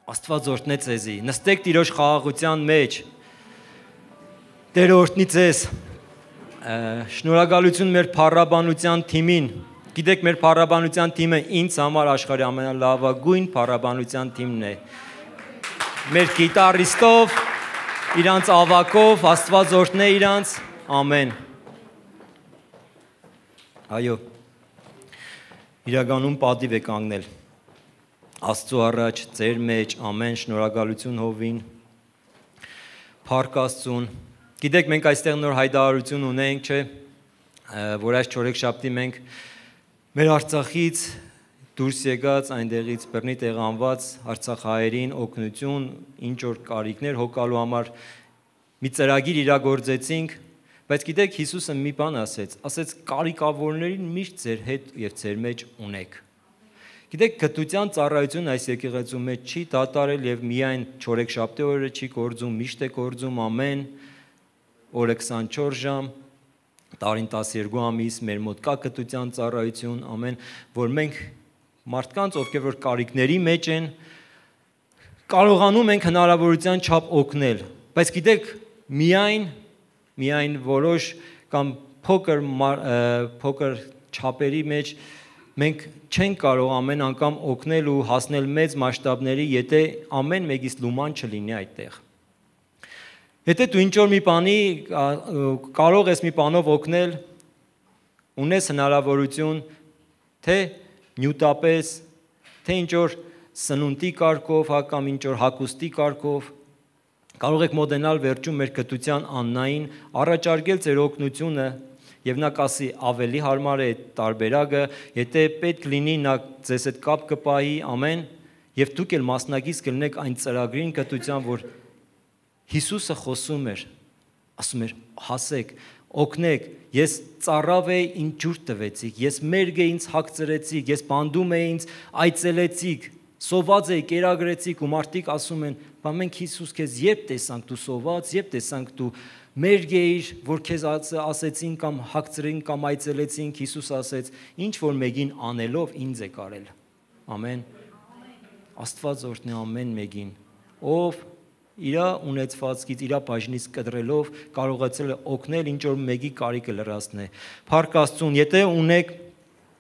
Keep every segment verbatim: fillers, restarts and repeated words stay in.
Աստված օրհնե ձեզի։ Նստեք Տիրոջ խաղաղության մեջ։ Տերը օրհնի ձեզ։ Շնորհակալություն մեր փառաբանության թիմին։ Գիտեք, մեր փառաբանության թիմը ինձ համար աշխարհի ամենալավագույն փառաբանության թիմն է։ Մեր գիտարիստով, իրանց ավակով, Աստված օրհնե իրանց։ Ամեն։ Այո։ Իրականում պատիվ է կանգնել Աստծո առաջ, ձեր մեջ, ամեն, շնորհակալություն հովին, փառք Աստծուն։ Գիտեք, մենք այստեղ նոր հայտարարություն ունենք, չէ, որ այս չորեքշաբթի մենք մեր Արցախից դուրս եկած, այնտեղից բռնի տեղանված արցախահայերին օգնություն, ինչ որ կարիքներ հոգալու համար մի ծրագիր իրագործեցինք, բայց գիտեք, Հիսուսը մի բան ասեց, ասեց կարիքավորներին միշտ ձեր հետ եւ ձեր մեջ ունեք։ Գիտեք, գտության ծառայությունը այս եկեղեցու մեջ չի դատարել եւ միայն չորեքշաբթի օրը չի գործում, միշտ է գործում ամեն օրը քսանչորս ժամ, տարին տասներկու ամիս մեր մոտ կա գտության ծառայություն, ամեն, որ մենք մարդկանց, ովքեր որ կարիքների մեջ են, կարողանում ենք հնարավորության չափ օգնել, բայց գիտեք, միայն միայն որոշ կամ փոքր փոքր չափերի մեջ մենք չենք կարող ամեն անգամ օգնել ու հասնել մեծ մասշտաբների, եթե ամեն մեկից լուման չլինի այդտեղ։ Եթե դու ինչ-որ մի բանի կարող ես մի բանով օգնել, ունես հնարավորություն, թե նյութապես, թե ինչ-որ սնունդի կարգով, կամ ինչ-որ հագուստի կարգով, կարող եք մոտենալ վերջում մեր գտության Աննային, առաջարկել ձեր օգնությունը եւ նա կասի ավելի հարմար է տարբերակը, եթե պետք լինի նա ձեզ հետ կապ կպահի, ամեն, եւ դուք էլ մասնակից կլինեք այն ծրագրին գտության, որ Հիսուսը խոսում էր, ասում էր, հասեք, օգնեք, ես ծառավ էի, ինձ ջուր տվեցիք, ես մերգ էի, ինձ հագցրեցիք, ես բանդում էի, ինձ այցելեցիք, սոված էի, կերակրեցիք ու մարդիկ ասում են, բա մենք Հիսուս քեզ երբ տեսանք դու սոված, երբ տեսանք դու մերգ էիր, որ քեզ ասեցին կամ հագցրին կամ այցելեցինք, Հիսուս ասեց, ինչ որ մեկին անելով ինձ է կարել։ Ամեն։ Աստված օրհնի ամեն մեկին, ով իր ունեցվածքից, իր բաժնից կտրելով կարողացել է օգնել ինչ որ մեկի կարիքը լրացնել։ Փառք Աստծուն, եթե ունեք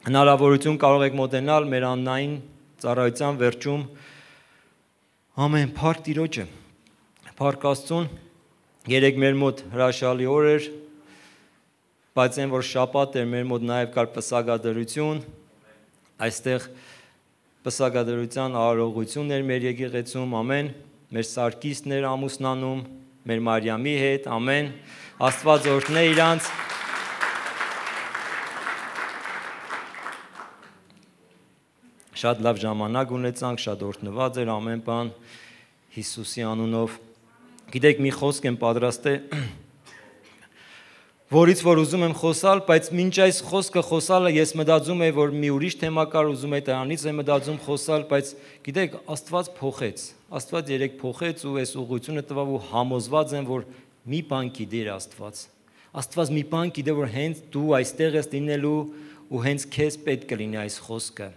հնարավորություն կարող եք մոտենալ մեր Աննային ծառայության վերջում, ամեն, փառք Տիրոջը, փառք Աստծուն, երեք մեր մոտ հրաշալի օր էր, բայց այն որ շաբաթ էր, մեր մոտ նաև կար պսակադրություն, այստեղ պսակադրության արարողություն էր մեր եկեղեցում, ամեն, մեր Սարգիսն էր ամուսնանում, մեր Մարիամի հետ, ամեն, Աստված օրհնե իրանց։ Շատ լավ ժամանակ ունեցանք, շատ օրհնված էր ամեն բան Հիսուսի անունով։ Գիտեք, մի խոսք եմ պատրաստել, որից որ ուզում եմ խոսալ, բայց մինչ այս խոսքը խոսալը ես մտածում եմ, որ մի ուրիշ թեմա կար, ուզում եմ դրանից եմ մտածում խոսալ, բայց գիտեք, Աստված փոխեց, Աստված երեք փոխեց ու այս ուղղությունը տվավ ու համոզված եմ, որ մի բան գիտեր Աստված։ Աստված մի բան գիտե, որ հենց դու այստեղ ես լինելու ու հենց քեզ պետք կլինի այս խոսքը։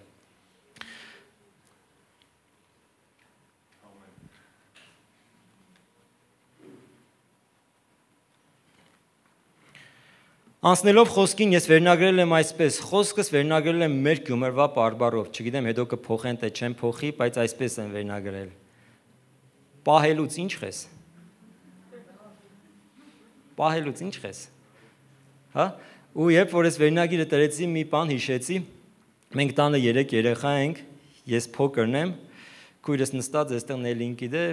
Անցնելով խոսքին ես վերնագրել եմ այսպես, խոսքս վերնագրել եմ մեր գումարվա բարբարով, չգիտեմ հետո կփոխեն թե չեմ փոխի, բայց այսպես եմ վերնագրել։ Պահելուց ինչ խես։ Պահելուց ինչ խես։ Հա? Ու երբ որ ես վերնագիրը տրեցի, մի բան հիշեցի, մենք տանը երեք երեխա ենք, ես փոքրն եմ, քույրս նստած այստեղ Նելին գիտե,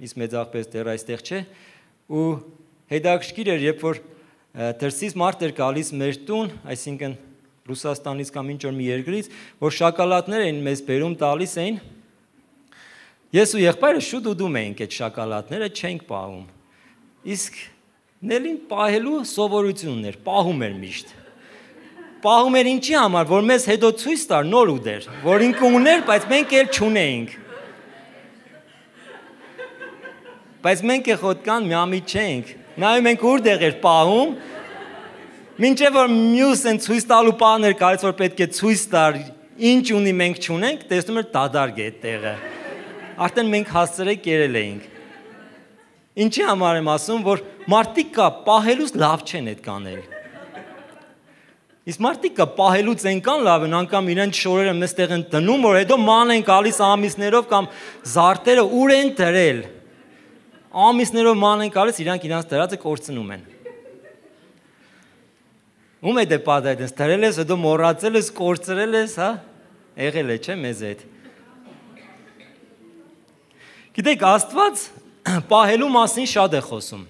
իսկ մեծ աղբես դեռ այստեղ չէ, ու հետաքրքիր էր, երբ որ դրսից մարդ էր գալիս մեր տուն, այսինքն Ռուսաստանից կամ ինչ որ մի երկրից, որ շոկոլադներ էին մեզ բերում տալիս էին։ Ես ու եղբայրը շուտ ուտում էինք այդ շոկոլադները, չենք պահում։ Իսկ Նելին պահելու սովորությունն էր, պահում էր միշտ։ Պահում էր ինչի համար, որ մեզ հետո ցույց տար նոր ուտեր, որ ինքը ուներ, բայց մենք էլ չունեինք։ Բայց մենք եղոտկան միամիտ չենք։ Նայում ենք որտեղ էր պահում, մինչև որ մյուս են ցույց տալու պահն էր կարծես որ պետք է ցույց տար, ինչ ունի մենք չունենք, տեսնում էր դադարք է այդ տեղը։ Արդեն մենք հասցրել կերել էինք։ Ինչի համար եմ ասում, որ մարդիկ կա պահելուց լավ չեն այդ կանել։ Իսկ մարդիկ կա պահելուց այնքան լավ են, անգամ իրենց շորերը մեստեղ են դնում, որ հետո ման են գալիս ամիսներով կամ զարտերը ուր են դրել։ Ամիսներով ման են գալիս, իրանք իրանց դրածը կորցնում են։ Ում է դե պատը այդպես դրել ես, հետո մոռացել ես, կորցրել ես, հա։ Եղել է, չէ՞ մեզ այդ։ Գիտեք, Աստված պահելու մասին շատ է խոսում։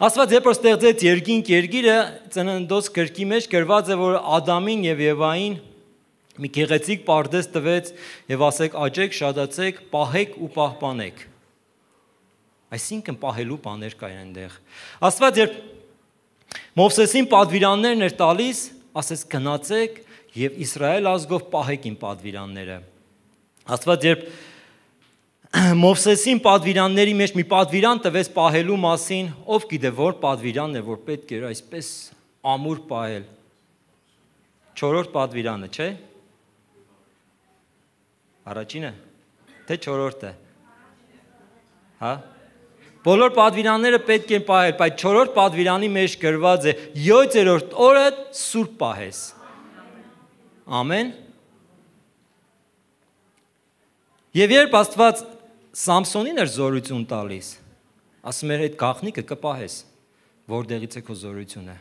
Աստված երբ որ ստեղծեց երկինք երկիրը, ծննդոց գրքի մեջ գրված է, որ Ադամին եւ Եվային մի գեղեցիկ պարդես տվեց եւ ասեք աճեք, շատացեք, պահեք ու պահպանեք։ Այսինքն պահելու բաներ կային այնտեղ։ Աստված երբ Մովսեսին պատվիրաններն էր տալիս, ասեց գնացեք եւ Իսրայել ազգով պահեք իմ պատվիրանները։ Աստված երբ Մովսեսին պատվիրանների մեջ մի պատվիրան տվեց պահելու մասին, ով գիտե որ պատվիրանն է, որ պետք էր այսպես ամուր պահել։ Չորրորդ պատվիրանը, չէ՞։ Առաջինը, թե չորրորդը։ Հա։ Բոլոր պատվիրանները պետք են պահել, բայց չորրորդ պատվիրանի մեջ գրված է յոթերորդ օրը սուրբ պահես։ Ամեն։ Եվ երբ Աստված Սամսոնին էր զորություն տալիս, ասում էր այդ գաղտնիքը կպահես, որտեղից է քո զորությունը։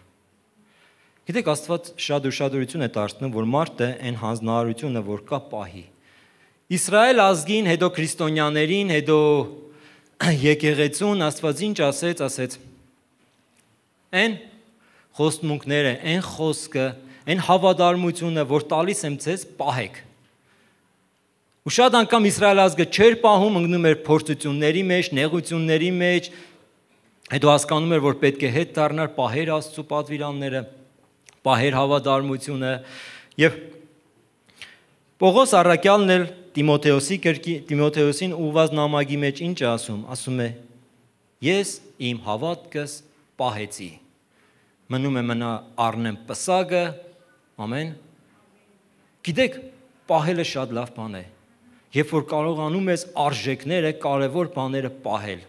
Գիտեք, Աստված շատ ուշադրություն է դարձնում, որ մարդը այն հանձնարարությունը, որ կա պահի։ Իսրայել ազգին, հետո քրիստոնյաներին, հետո եկեղեցուն Աստված ինչ ասեց, ասեց. Այն խոստմունքները, այն խոսքը, այն հավատարմությունը, որ տալիս եմ ձեզ, պահեք։ Ու շատ անգամ Իսրայել ազգը չէր պահում, ընկնում էր փորձությունների մեջ, նեղությունների մեջ, հետո հասկանում էր, որ պետք է հետ դառնալ, պահեր Աստծո պատվիրանները, պահեր հավատարմությունը, եւ Պողոս առաքյալն էլ Տիմոթեոսի գրքի Տիմոթեոսին ուղված նամակի մեջ ինչ է ասում, ասում է. ես իմ հավատքս պահեցի, մնում է մնա առնեմ պսակը, ամեն։ Գիտեք, պահելը շատ լավ բան է, երբ որ կարողանում ես արժեքները, կարևոր բաները պահել։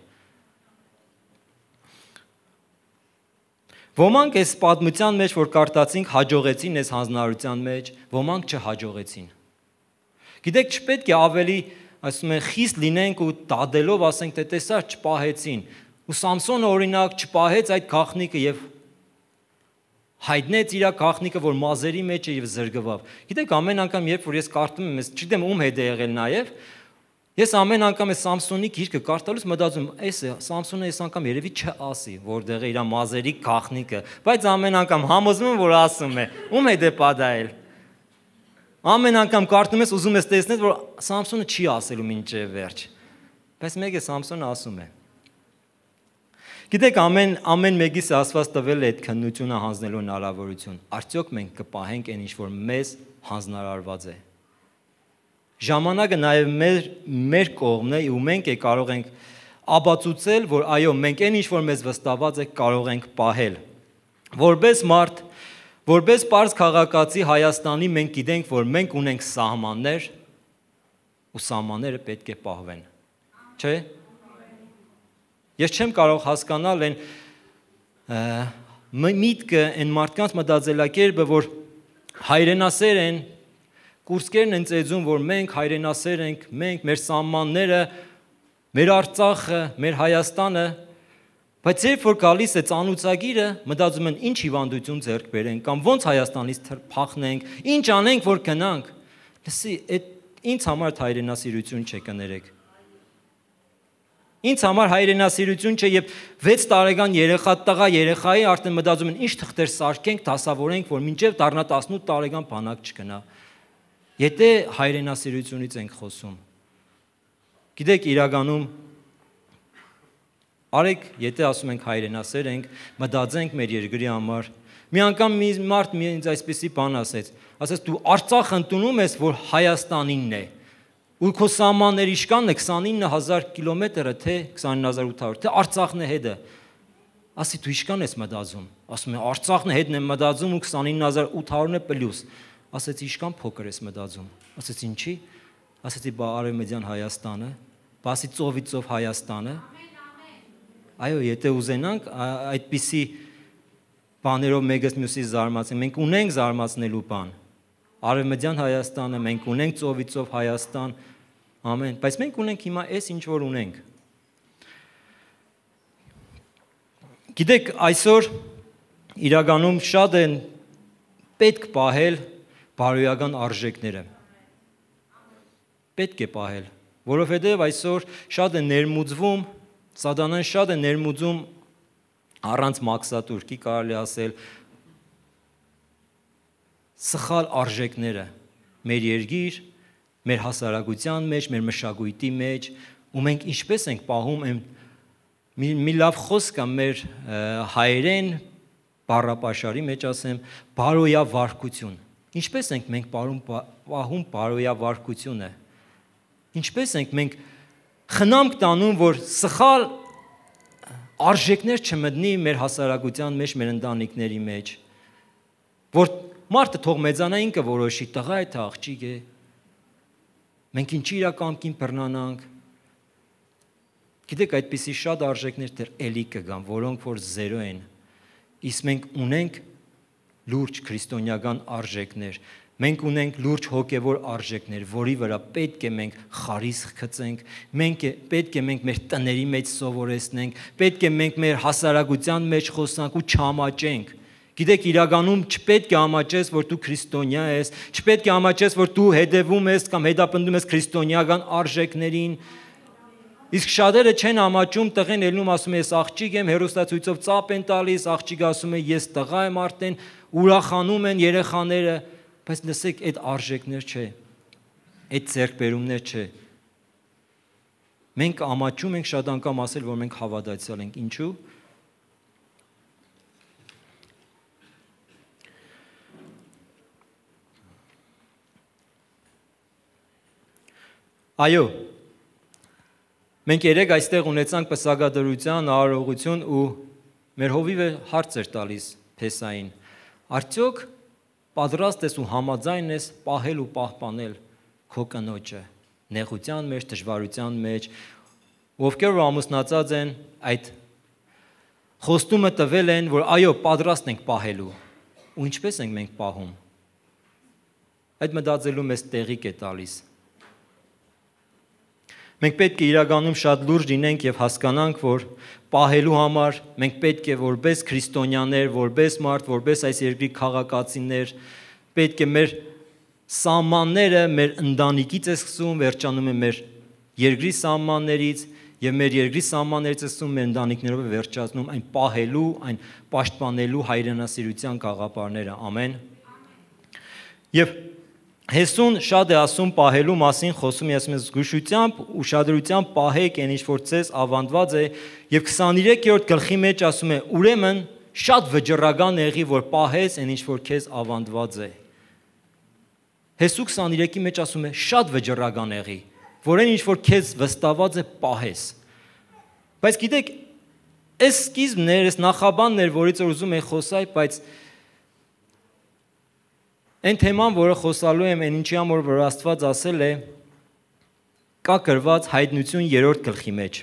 Ոմանք այս պատմության մեջ, որ կարդացինք, հաջողեցին այս հանձնարարության մեջ, ոմանք չհաջողեցին։ Գիտեք, չպետք է ավելի, ասում են, խիստ լինենք ու դադելով ասենք, թե տեսա չպահեցին։ Ու Սամսոնը օրինակ չպահեց այդ գաղտնիքը եւ հայտնեց իր գաղտնիքը, որ մազերի մեջ է եւ զրկվավ։ Գիտեք, ամեն անգամ երբ որ ես կարդում եմ, չգիտեմ ում հետ է եղել նաեւ, ես ամեն անգամ այս Սամսոնի գիրքը կարդալուց մտածում, էս է, Սամսոնը այս անգամ երևի չասի, որտեղ է իր մազերի գաղտնիքը, բայց ամեն անգամ համոզվում եմ, որ ասում է, ում հետ է պատահել։ Ամեն անգամ կարդում ես, ուզում ես տեսնել, որ Սամսոնը չի ասելու մինչև վերջ, բայց մեկ է Սամսոնը ասում է։ Գիտեք, ամեն ամեն մեկիս Աստված տվել է այդ քննությունը հանձնելու հնարավորություն։ Արդյոք մենք կպահենք այն ինչ որ մեզ հանձնարարված է։ Ժամանակը նաև մեր մեր կողմն է ու մենք է կարող ենք ապացուցել, որ այո, մենք այն ինչ որ մեզ վստահված է կարող ենք պահել։ Որպես մարդ, որպես պարզ քաղաքացի Հայաստանի մենք գիտենք, որ մենք ունենք սահմաններ ու սահմանները պետք է պահվեն։ Չէ՞։ Ես չեմ կարող հասկանալ այն միտքը, այն մարդկանց մտածելակերպը, որ հայրենասեր են, կուրսկերն են ծեծում, որ մենք հայրենասեր ենք, մենք, մեր սահմանները, մեր Արցախը, մեր Հայաստանը, բայց երբ որ գալիս է ծանուցագիրը, մտածում են ինչ հիվանդություն ձեռք բերենք, կամ ոնց Հայաստանից փախնենք, ինչ անենք, որ գնանք։ Լսի, այդ ինձ համար հայրենասիրություն չէ, կներեք։ Ինձ համար հայրենասիրություն չէ, եւ վեց տարեկան երեխա տղա երեխայի արդեն մտածում են ինչ թղթեր սարքենք, դասավորենք, որ մինչեւ դառնա տասնութ տարեկան բանակ չգնա։ Եթե հայրենասիրությունից ենք խոսում։ Գիտեք, իրականում արեք, եթե ասում ենք հայրենասեր ենք, մտածենք մեր երկրի համար։ Մի անգամ մի մարդ մի ինձ այսպեսի բան ասեց, ասեց դու Արցախ ընդունում ես, որ Հայաստանինն է։ Ու քո սահմանների իշկանն է քսանինը հազար կիլոմետրը, թե քսանինը հազար ութ հարյուր, թե Արցախն է հետը։ Ասի դու իշկան ես մտածում։ Ասում է Արցախն է հետն եմ մտածում ու քսանինը հազար ութ հարյուրն է պլյուս։ Ասեց իշկան փոքր ես մտածում։ Ասեց ինչի։ ասեցի բա Արևմտյան Հայաստանը, բասի ծովից ծով Հայաստանը։ Այո, եթե ուզենանք այդպիսի բաներով մեկս մյուսի զարմացնենք, մենք ունենք զարմացնելու բան։ Արևմտյան Հայաստանը, մենք ունենք ծովից ծով Հայաստան, ամեն, բայց մենք ունենք հիմա այս ինչ որ ունենք։ Գիտեք, այսօր իրականում շատ են պետք պահել բարոյական արժեքները։ Պետք է պահել, որովհետև այսօր շատ է ներմուծվում, Սատանան շատ է ներմուծում առանց մաքսատուրքի կարելի ասել սխալ արժեքները մեր երկիր, մեր հասարակության մեջ, մեր մշակույթի մեջ, ու մենք ինչպես ենք պահում այն մի, մի լավ խոսք կա մեր հայերեն բառապաշարի մեջ ասեմ բարոյավարքություն։ Ինչպես ենք մենք պահում պահում բարոյավարքությունը։ Ինչպես ենք մենք խնամք տանում, որ սխալ արժեքներ չմտնի մեր հասարակության մեջ, մեր ընտանիքների մեջ, որ մարդը թող մեծանա ինքը որոշի, տղա է թե աղջիկ է, մենք ինչի իրականքին բռնանանք։ Գիտեք, այդպիսի շատ արժեքներ դեռ էլի կգան, որոնք որ զերո են, իսկ մենք ունենք լուրջ քրիստոնեական արժեքներ, մենք ունենք լուրջ հոգևոր արժեքներ, որի վրա պետք է մենք խարիսխ գցենք, մենք է, պետք է մենք մեր տների մեջ սովորեցնենք, պետք է մենք մեր հասարակության մեջ խոսանք ու չամաչենք։ Գիտեք, իրականում չպետք է ամաչես, որ դու քրիստոնյա ես, չպետք է ամաչես, որ դու հետևում ես կամ հետապնդում ես քրիստոնեական արժեքներին։ Իսկ շատերը չեն ամաչում, տղեն ելնում ասում է ես աղջիկ եմ, հեռուստացույցով ծապ են տալիս, աղջիկը ասում է ես տղա եմ արդեն, ուրախանում են երեխաները, բայց լսեք, այդ արժեքներ չէ, այդ ձեռքբերումներ չէ։ Մենք ամաչում ենք շատ անգամ ասել, որ մենք հավատացյալ ենք, ինչու՞։ Այո, մենք երեք այստեղ ունեցանք պսակադրության, արարողություն ու մեր հովիվը հարց էր տալիս Փեսային։ Արդյոք պատրաստ ես ու համաձայն ես պահել ու պահպանել քո կնոջը նեղության մեջ, դժվարության մեջ, ովքեր որ ամուսնացած են, այդ խոստումը տվել են, որ այո, պատրաստ ենք պահելու։ Ու ինչպես ենք մենք պահում։ Այդ մտածելու մեզ տեղիք է տալիս։ Մենք պետք է իրականում շատ լուրջ լինենք եւ հասկանանք, որ պահելու համար մենք պետք է որպես քրիստոնյաներ, որպես մարդ, որպես այս երկրի քաղաքացիներ, պետք է մեր սահմանները մեր ընտանիքից է սկսում, վերջանում է մեր երկրի սահմաններից եւ մեր երկրի սահմաններից է սկսում մեր ընտանիքներով է վերջացնում այն պահելու, այն պաշտպանելու հայրենասիրության գաղափարները։ Ամեն։ Եվ Հեսուն շատ է ասում պահելու մասին, խոսում է ասում է զգուշությամբ, ուշադրությամբ պահեք այն ինչ որ ցես ավանդված է եւ քսաներեքերորդ գլխի մեջ ասում է ուրեմն շատ վճռական եղի որ պահես այն ինչ որ քեզ ավանդված է։ Հեսու քսաներեքի մեջ ասում է շատ վճռական եղի, որ այն ինչ որ քեզ վստահված է պահես։ Բայց գիտեք, այս սկիզբն էր, այս նախաբանն էր, որից որ ուզում եմ խոսալ, բայց Այն թեման, որը խոսալու եմ, այն ինչի համար որ Աստված ասել է, կա գրված հայտնություն երրորդ գլխի մեջ։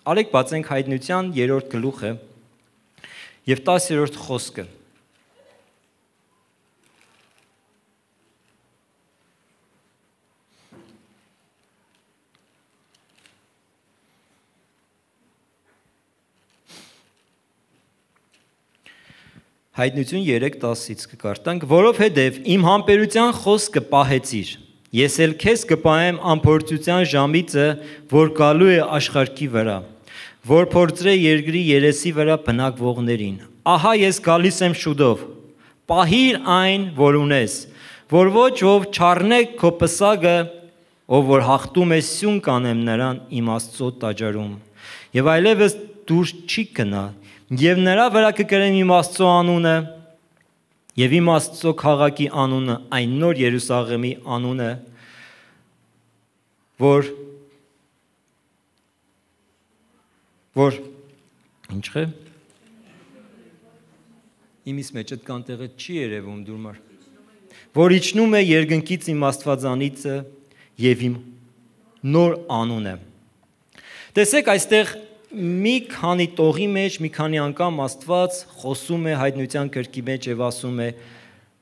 Արեք բացենք հայտնության երրորդ գլուխը եւ տասերորդ խոսքը։ Հայտնություն երեք տասից կկարտանք, որովհետև իմ համբերության խոսքը պահեցիր, ես էլ քեզ կպահեմ անփորձության ժամիցը, որ գալու է աշխարհի վրա, որ փորձրե երկրի երեսի վրա բնակվողներին։ Ահա ես գալիս եմ շուտով, պահիր այն, որ ունես, որ ոչ ով չառնե քո պսակը, ով որ հաղթում է սյուն կանեմ նրան իմ Աստծո տաճարում, եւ այլևս դուրս չի գնա Եվ նրա վրա կկրեմ իմ Աստծո անունը եւ իմ Աստծո քաղաքի անունը, այն նոր Երուսաղեմի անունը, որ որ ինչ է իմիս մեջ այդ կանտեղը չի երևում դուրմար որ իջնում է երկնքից իմ Աստվածանիցը եւ իմ նոր անուն է։ Տեսեք, այստեղ մի քանի տողի մեջ, մի քանի անգամ Աստված խոսում է հայտնության գրքի մեջ եւ ասում է.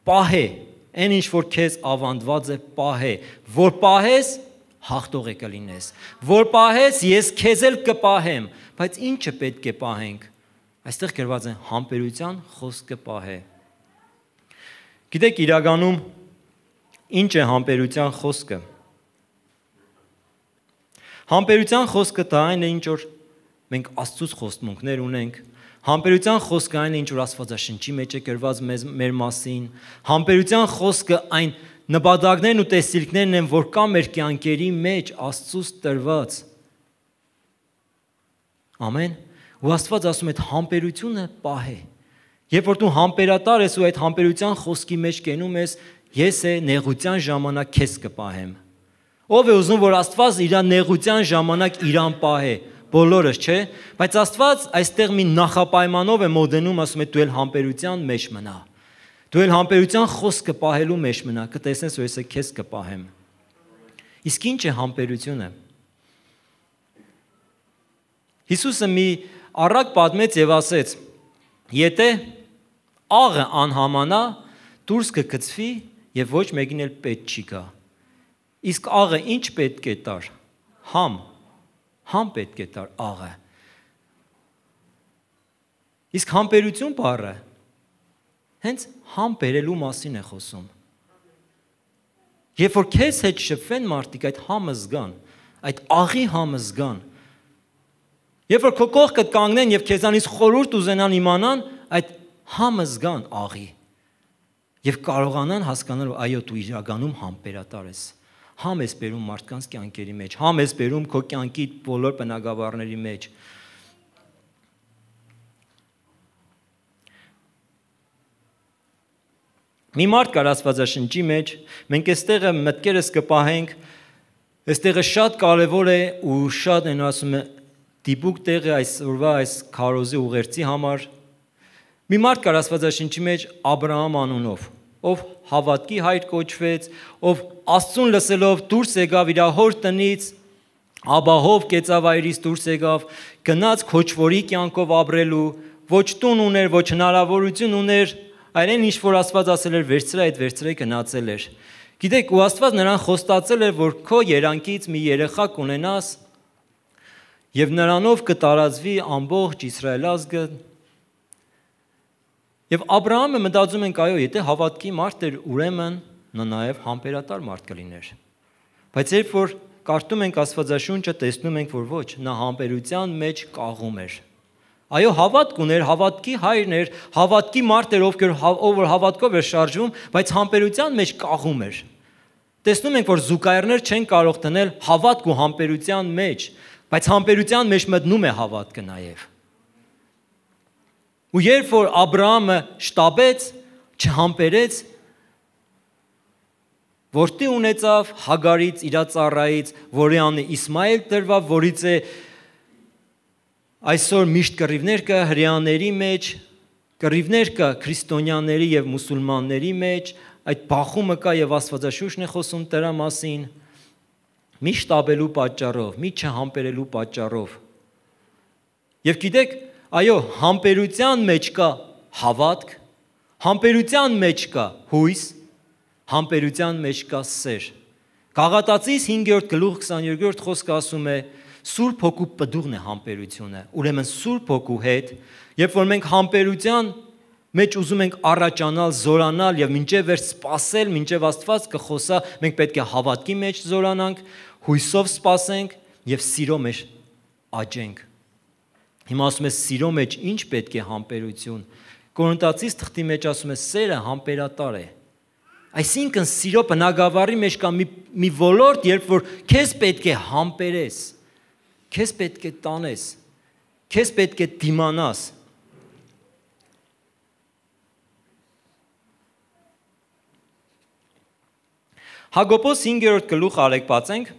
«Պահե, այն ինչ որ քեզ ավանդված է, պահե, որ պահես, հաղթող է կլինես, որ պահես, ես քեզ էլ կպահեմ», բայց ինչը պետք է պահենք։ Այստեղ գրված է համբերության խոսքը պահե։ Գիտեք, իրականում ինչ է համբերության խոսքը։ Համբերության խոսքը դա այն է, ինչ որ մենք Աստծուց խոստմունքներ ունենք։ Համբերության խոսքը այն է, ինչ որ Աստվածաշնչի մեջ է գրված մեր մասին։ Համբերության խոսքը այն նպատակներն ու տեսիլքներն են, որ կա մեր կյանքերի մեջ Աստծուց տրված։ Ամեն։ Ու Աստված ասում է, այդ համբերությունը պահե։ Երբ որ դու համբերատար ես ու այդ համբերության խոսքի մեջ կենում ես, ես է նեղության ժամանակ քեզ կպահեմ։ Ով է ուզում, որ Աստված իր նեղության ժամանակ իրան պահե, բոլորս, չէ՞։ Բայց Աստված այստեղ մի նախապայմանով է մոդենում, ասում է դու էլ համբերության մեջ մնա։ Դու էլ համբերության խոսքը պահելու մեջ մնա, կտեսնես, որ ես քեզ կպահեմ։ Իսկ ինչ է համբերությունը։ Հիսուսը մի առակ պատմեց եւ ասեց. «Եթե աղը անհամանա, դուրս կգցվի եւ ոչ մեկին էլ պետք չի գա»։ Իսկ աղը ինչ պետք է տար։ Համ, համ պետք է տար աղը։ Իսկ համբերություն բառը հենց համ բերելու մասին է խոսում։ Երբ որ քեզ հետ շփվեն մարդիկ, այդ համը զգան, այդ աղի համը զգան։ Երբ որ քո կողքդ կանգնեն եւ քեզանից խորհուրդ ուզենան իմանան, այդ համը զգան աղի։ Եվ կարողանան հասկանալ, այո, դու իրականում համբերատար ես։ Համ ես բերում մարդկանց կյանքերի մեջ, համ ես բերում քո կյանքի բոլոր բնագավառների մեջ։ Մի մարդ կար Աստվածաշնչի մեջ, մենք այստեղը մտքերս կպահենք, այստեղը շատ կարևոր է ու շատ են ասում է դիպուկ տեղը այսօրվա այս քարոզի ուղերձի համար։ Մի մարդ կար Աստվածաշնչի մեջ Աբրահամ անունով, ով հավատքի հայր կոչվեց, ով Աստծուն լսելով դուրս եկավ իր հոր տնից, աբահով կեցավայրից դուրս եկավ, գնաց քոչվորի կյանքով ապրելու, ոչ տուն ուներ, ոչ հնարավորություն ուներ, այլեն ինչ որ Աստված ասել էր վերցրա, այդ վերցրե գնացել էր։ Գիտեք, ու Աստված նրան խոստացել էր, որ քո երանքից մի երեխա կունենաս, եւ նրանով կտարածվի ամբողջ Իսրայել ազգը։ Եվ Աբրահամը մտածում ենք, այո, եթե հավատքի մարդ էր, ուրեմն նա նաև համբերատար մարդ կլիներ։ Բայց երբ որ կարդում ենք Աստվածաշունչը, տեսնում ենք, որ ոչ, նա համբերության մեջ կաղում էր։ Այո, հավատք ուներ, հավատքի հայրն էր, հավատքի մարդ էր, ով որ հավատքով էր շարժվում, բայց համբերության մեջ կաղում էր։ Տեսնում ենք, որ զուգահեռներ չեն կարող դնել հավատք ու համբերության մեջ, բայց համբերության մեջ մտնում է հավատքը նաև։ Ու երբ որ Աբրահամը շտապեց, չհամբերեց, որդի ունեցավ Հագարից, իր ծառայից, որի անունը Իսմայել տրվավ, որից է այսօր միշտ կռիվներ կա հրեաների մեջ, կռիվներ կա քրիստոնյաների եւ մուսուլմանների մեջ, այդ բախումը կա եւ Աստվածաշունչն է խոսում դրա մասին, մի շտապելու պատճառով, մի չհամբերելու պատճառով։ Եվ գիտեք, այո, համբերության մեջ կա հավատք, համբերության մեջ կա հույս, համբերության մեջ կա սեր։ Գաղատացիս հինգերորդ գլուխ քսաներկրորդ խոսքը ասում է. Սուրբ Հոգու պտուղն է համբերությունը։ Ուրեմն Սուրբ Հոգու հետ, երբ որ մենք համբերության մեջ ուզում ենք առաջանալ, զորանալ եւ մինչեւ վերջ սпасել, մինչեւ Աստված կխոսա, մենք պետք է հավատքի մեջ զորանանք, հույսով սпасենք եւ սիրո մեջ աճենք։ Հիմա ասում է սիրո մեջ ինչ պետք է համբերություն։ Կորինթացիս թղթի մեջ ասում է սերը համբերատար է։ Այսինքն սիրո բնագավառի մեջ կա մի, մի ոլորտ, երբ որ քեզ պետք է համբերես, քեզ պետք է տանես, քեզ պետք է դիմանաս։ Հակոբոս հինգերորդ գլուխ արեք բացենք։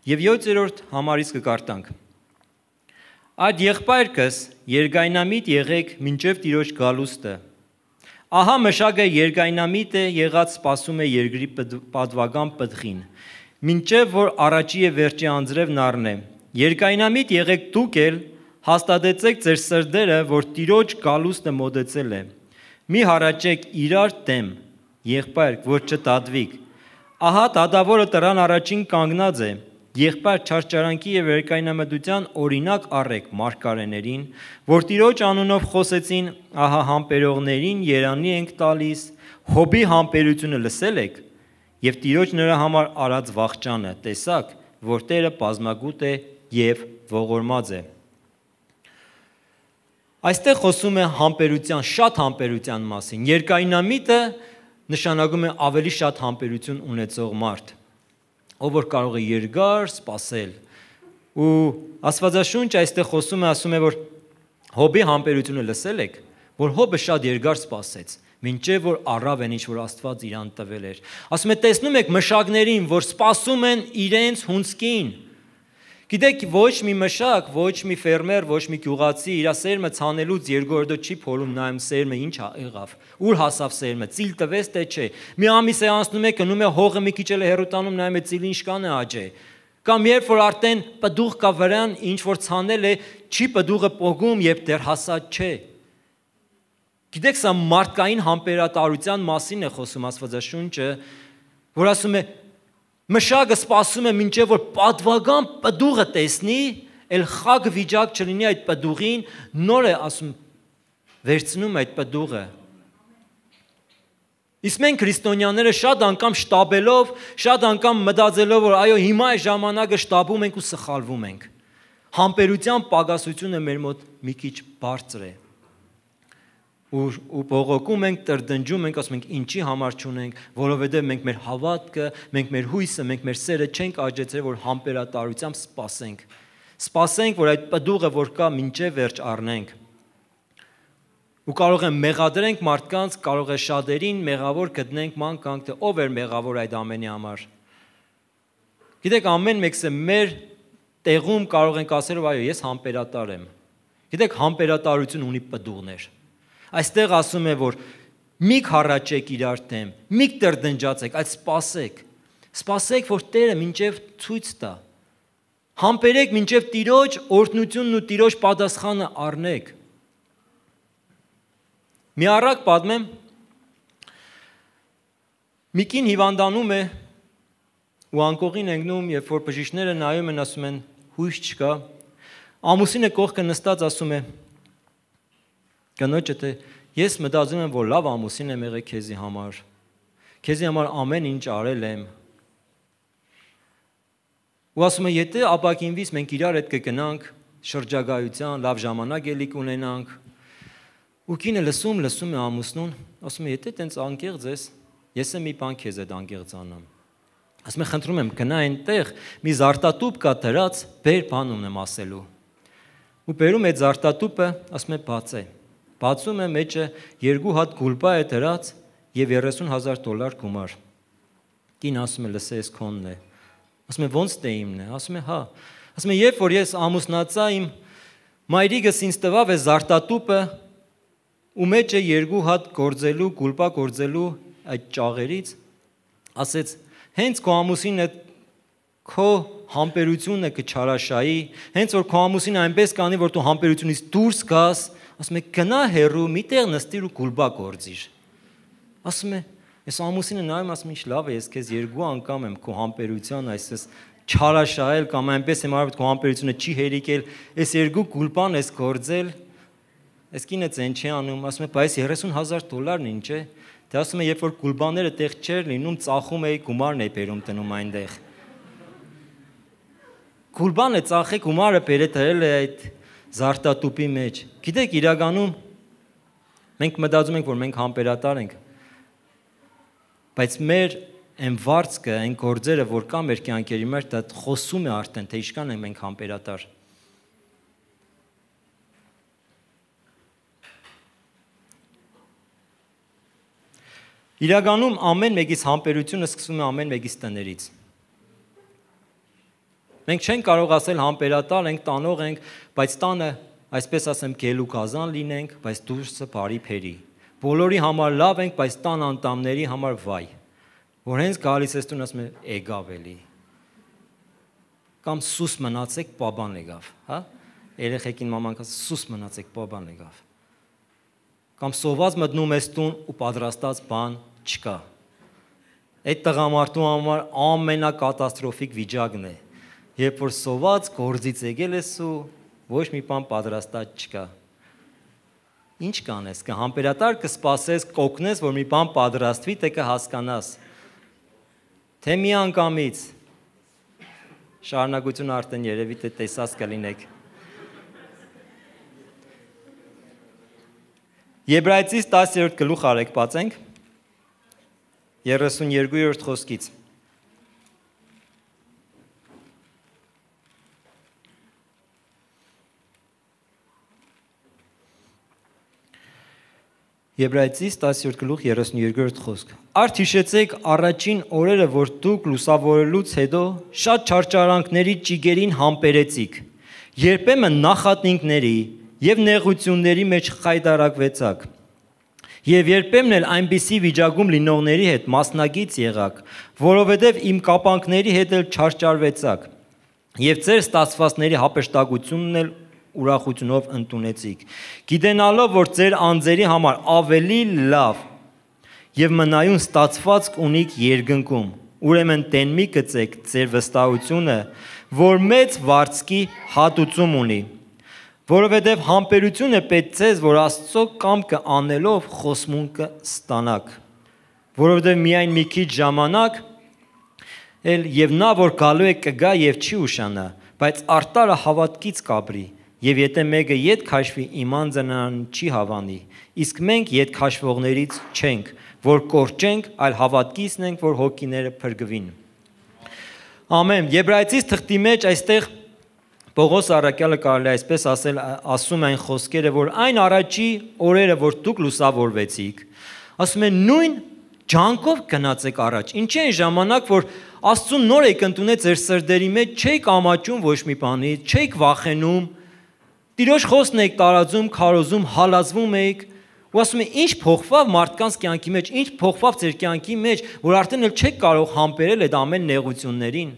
Եվ յոթերորդ համարից կկարտանք։ Այդ եղբայրքս երկայնամիտ եղեք մինչև Տիրոջ գալուստը։ Ահա մշակը երկայնամիտ է եղած սպասում է երկրի պատվական պտղին, մինչև որ առաջի եւ վերջի անձրևն առնե։ Երկայնամիտ եղեք դուք էլ, հաստատեցեք ձեր սրտերը, որ Տիրոջ գալուստը մոտեցել է։ Մի հառաչեք իրար դեմ, եղբայր, որ չտատվիք։ Ահա դատավորը տրան առաջին կանգնած է։ Եղբայր չարչարանքի եւ երկայնամտության օրինակ առեք մարգարեներին, որ Տիրոջ անունով խոսեցին, ահա համբերողներին երանի ենք տալիս, հոբի համբերությունը լսել եք, եւ Տիրոջ նրա համար արած վախճանը տեսակ, որ Տերը բազմագուտ է եւ ողորմած է։ Այստեղ խոսում է համբերության, շատ համբերության մասին։ Երկայնամիտը նշանակում է ավելի շատ համբերություն ունեցող մարդ, ով որ կարող է երկար սպասել։ Ու Աստվածաշունչը այստեղ խոսում է, ասում է, որ Հոբի համբերությունը լսել եք, որ Հոբը շատ երկար սպասեց, մինչև որ առավ են ինչ որ Աստված իրան տվել էր։ Ասում է, տեսնում եք մշակներին, որ սպասում են իրենց հունցքին։ Գիտեք, ոչ մի մշակ, ոչ մի ֆերմեր, ոչ մի գյուղացի իր սերմը ցանելուց երկու օրը չի փորում նայում սերմը ինչ եղավ, ուր հասավ սերմը, ծիլ տվեց թե չէ։ Մի ամիս է անցնում է, գնում է հողը մի քիչ էլ հերոտանում, նայում է ծիլը ինչքան է աճե։ Կամ երբ որ արդեն պտուղ կա վրան, ինչ որ ցանել է, չի պտուղը պոկում, երբ դեռ հասած չէ։ Գիտեք, սա մարդկային համբերատարության մասին է խոսում Աստվածաշունչը, որ ասում է մշակը սպասում է մինչև որ պատվական պտուղը տեսնի, էլ խակ վիճակ չլինի այդ պտուղին, նոր է ասում վերցնում այդ պտուղը։ Իսկ մենք քրիստոնյաները շատ անգամ շտաբելով, շատ անգամ մտածելով, որ այո, հիմա է ժամանակը, շտաբում ենք ու սխալվում ենք։ Համբերության պակասությունը մեր մոտ մի քիչ բարձր է։ Ու ու բողոքում ենք, տրդնջում ենք, ասում ենք ինչի համար չունենք, որովհետև մենք մեր հավատքը, մենք մեր հույսը, մենք մեր սերը չենք աճեցրել, որ համբերատարությամբ սպասենք։ Սպասենք, որ այդ պտուղը, որ կա, մինչև վերջ առնենք։ Ու կարող է մեղադրենք մարդկանց, կարող է շատերին մեղավոր գտնենք ման կանք, թե ով էր մեղավոր այդ ամենի համար։ Գիտեք, ամեն մեկս է մեր տեղում կարող ենք ասել, որ այո, ես համբերատար եմ։ Գիտեք, համբերատարություն ունի պտուղներ։ Այստեղ ասում է, որ մի քառաչեք իրար դեմ, մի տրդնջացեք, այլ սպասեք։ Սպասեք, որ Տերը մինչև ցույց տա։ Համբերեք մինչև Տիրոջ օրհնությունն ու Տիրոջ պատասխանը առնեք։ Մի առակ պատմեմ, մի կին հիվանդանում է ու անկողին ընկնում, երբ որ բժիշկները նայում են, ասում են հույս չկա, ամուսինը կողքը նստած ասում է կնոջը, թե ես մտածում եմ, որ լավ ամուսին եմ եղել քեզի համար, քեզի համար ամեն ինչ արել եմ։ Ու ասում է, եթե ապակինվից մենք իրար հետ կգնանք շրջագայության, լավ ժամանակ էլի կունենանք։ Ու կինը լսում, լսում է ամուսնուն, ասում է, եթե տենց անկեղծ ես, ես եմ մի բան քեզ հետ անկեղծանամ։ Ասում է, խնդրում եմ, գնա այնտեղ, մի զարտատուփ կա դրած, բեր բան ունեմ ասելու։ Ու բերում է զարտատուփը, ասում է, բացե։ Բացում է մեջը երկու հատ գուլպա է դրած եւ երեսուն հազար դոլար գումար։ Կին ասում է, լսե, ես քոնն է։ Ասում է, ո՞նց դե իմն է։ Ասում է, հա։ Ասում է, երբ որ ես ամուսնացա, իմ մայրիկս ինձ տվավ է զարտատուփը ու մեջը երկու հատ գործելու, գուլպա գործելու այդ ճաղերից, ասեց, հենց քո ամուսինը քո համբերությունը կչարաշայի, հենց որ քո ամուսինը այնպես կանի, որ դու համբերությունից դուրս գաս, ասում է, գնա հեռու, միտեղ նստիր ու գուլբա գործիր։ Ասում է, ես ամուսինը նայում, ասում ինչ լավ է, ես քեզ երկու անգամ եմ քո համբերության այսպես չարաշահել կամ այնպես եմ արվել քո համբերությունը չի հերիկել, այս երկու գուլբան ես գործել, այս կինը ցեն չի անում, ասում է, բայց երեսուն հազար դոլարն ինչ է։ Դե ասում է, երբ որ գուլբաները տեղ չեր լինում, ծախում էի գումարն էի բերում տնում այնտեղ։ Գուլբանը ծախե գումարը բերե դրել է այդ զարտատուփի մեջ։ Գիտեք, իրականում մենք մտածում ենք, որ մենք համբերատար ենք, բայց մեր այն վարձքը, այն գործերը, որ կա մեր կյանքերի մեջ, դա խոսում է արդեն, թե ինչքան ենք մենք համբերատար։ Իրականում ամեն մեկից համբերությունը սկսում է ամեն մեկից տներից։ Մենք չենք կարող ասել համբերատար ենք, տանող ենք, բայց տանը, այսպես ասեմ, գելու գազան լինենք, բայց դուրսը բարի փերի։ բոլորի համար լավ ենք, բայց տան անդամների համար վայ։ Որ հենց գալիս ես տուն ասում է եկավ էլի։ Կամ սուս մնացեք, պաբան եկավ, հա։ Երեխեքին մաման ասում սուս մնացեք, պաբան եկավ։ Կամ սոված մտնում ես տուն ու պատրաստած բան չկա։ Այդ տղամարդու համար ամենակատաստրոֆիկ վիճակն է, երբ որ սոված գործից եկել ես ու ոչ մի բան պատրաստած չկա։ Ինչ կանես, կհամբերատար կսպասես, կօգնես, որ մի բան պատրաստվի, թե կհասկանաս։ Թե մի անգամից շարունակությունը արդեն երևի թե տեսած կլինեք։ Եբրայեցիս տասերորդ գլուխ արեք բացենք երեսունյոթերորդ խոսքից։ Եբրայեցիս տասերորդ գլուխ երեսունյոթերորդ խոսք։ Արդ հիշեցեք առաջին օրերը, որ դուք լուսավորելուց հետո շատ չարչարանքների ճիգերին համբերեցիք, երբեմն նախատնինքների եւ նեղությունների մեջ խայտարակվեցաք, եւ երբեմն էլ այնպիսի վիճակում լինողների հետ մասնագից եղաք, որովհետեւ իմ կապանքների հետ էլ չարչարվեցաք, եւ ձեր ստացվածների հապշտակությունն էլ ուրախությունով ընդունեցիք, գիտենալով, որ ձեր անձերի համար ավելի լավ եւ մնայուն ստացվածք ունիք երկնքում, ուրեմն տեն մի գծեք ձեր վստահությունը, որ մեծ վարձքի հատուցում ունի, որովհետեւ համբերությունը պետք ձեզ, որ Աստծո կամքը անելով խոսմունքը ստանաք, որովհետեւ միայն մի քիչ ժամանակ էլ եւ նա, որ գալու է կգա եւ չի ուշանա, բայց արտարը հավատքից կաբրի, եւ եթե մեկը ետ քաշվի, իման ծնան չի հավանի, իսկ մենք ետ քաշվողներից չենք, որ կորչենք, այլ հավատքիցն ենք, որ հոգիները փրկվին։ Ամեն։ Եբրայեցիս թղթի մեջ այստեղ Պողոս առաքյալը կարելի է այսպես ասել, ասում այն խոսքերը, որ այն առաջի օրերը, որ դուք լուսավորվեցիք, ասում են նույն ջանքով գնացեք առաջ։ Ինչի այն ժամանակ, որ Աստծուն նոր եք ընդունել ձեր սրտերի մեջ, չեք ամաչում ոչ մի բանից, չեք վախենում, Տիրոջ խոսքն եք տարածում, քարոզում, հալածվում եք, ու ասում են ինչ փոխվավ մարդկանց կյանքի մեջ, ինչ փոխվավ ձեր կյանքի մեջ, որ արդեն էլ չեք կարող համբերել այդ ամեն նեղություններին։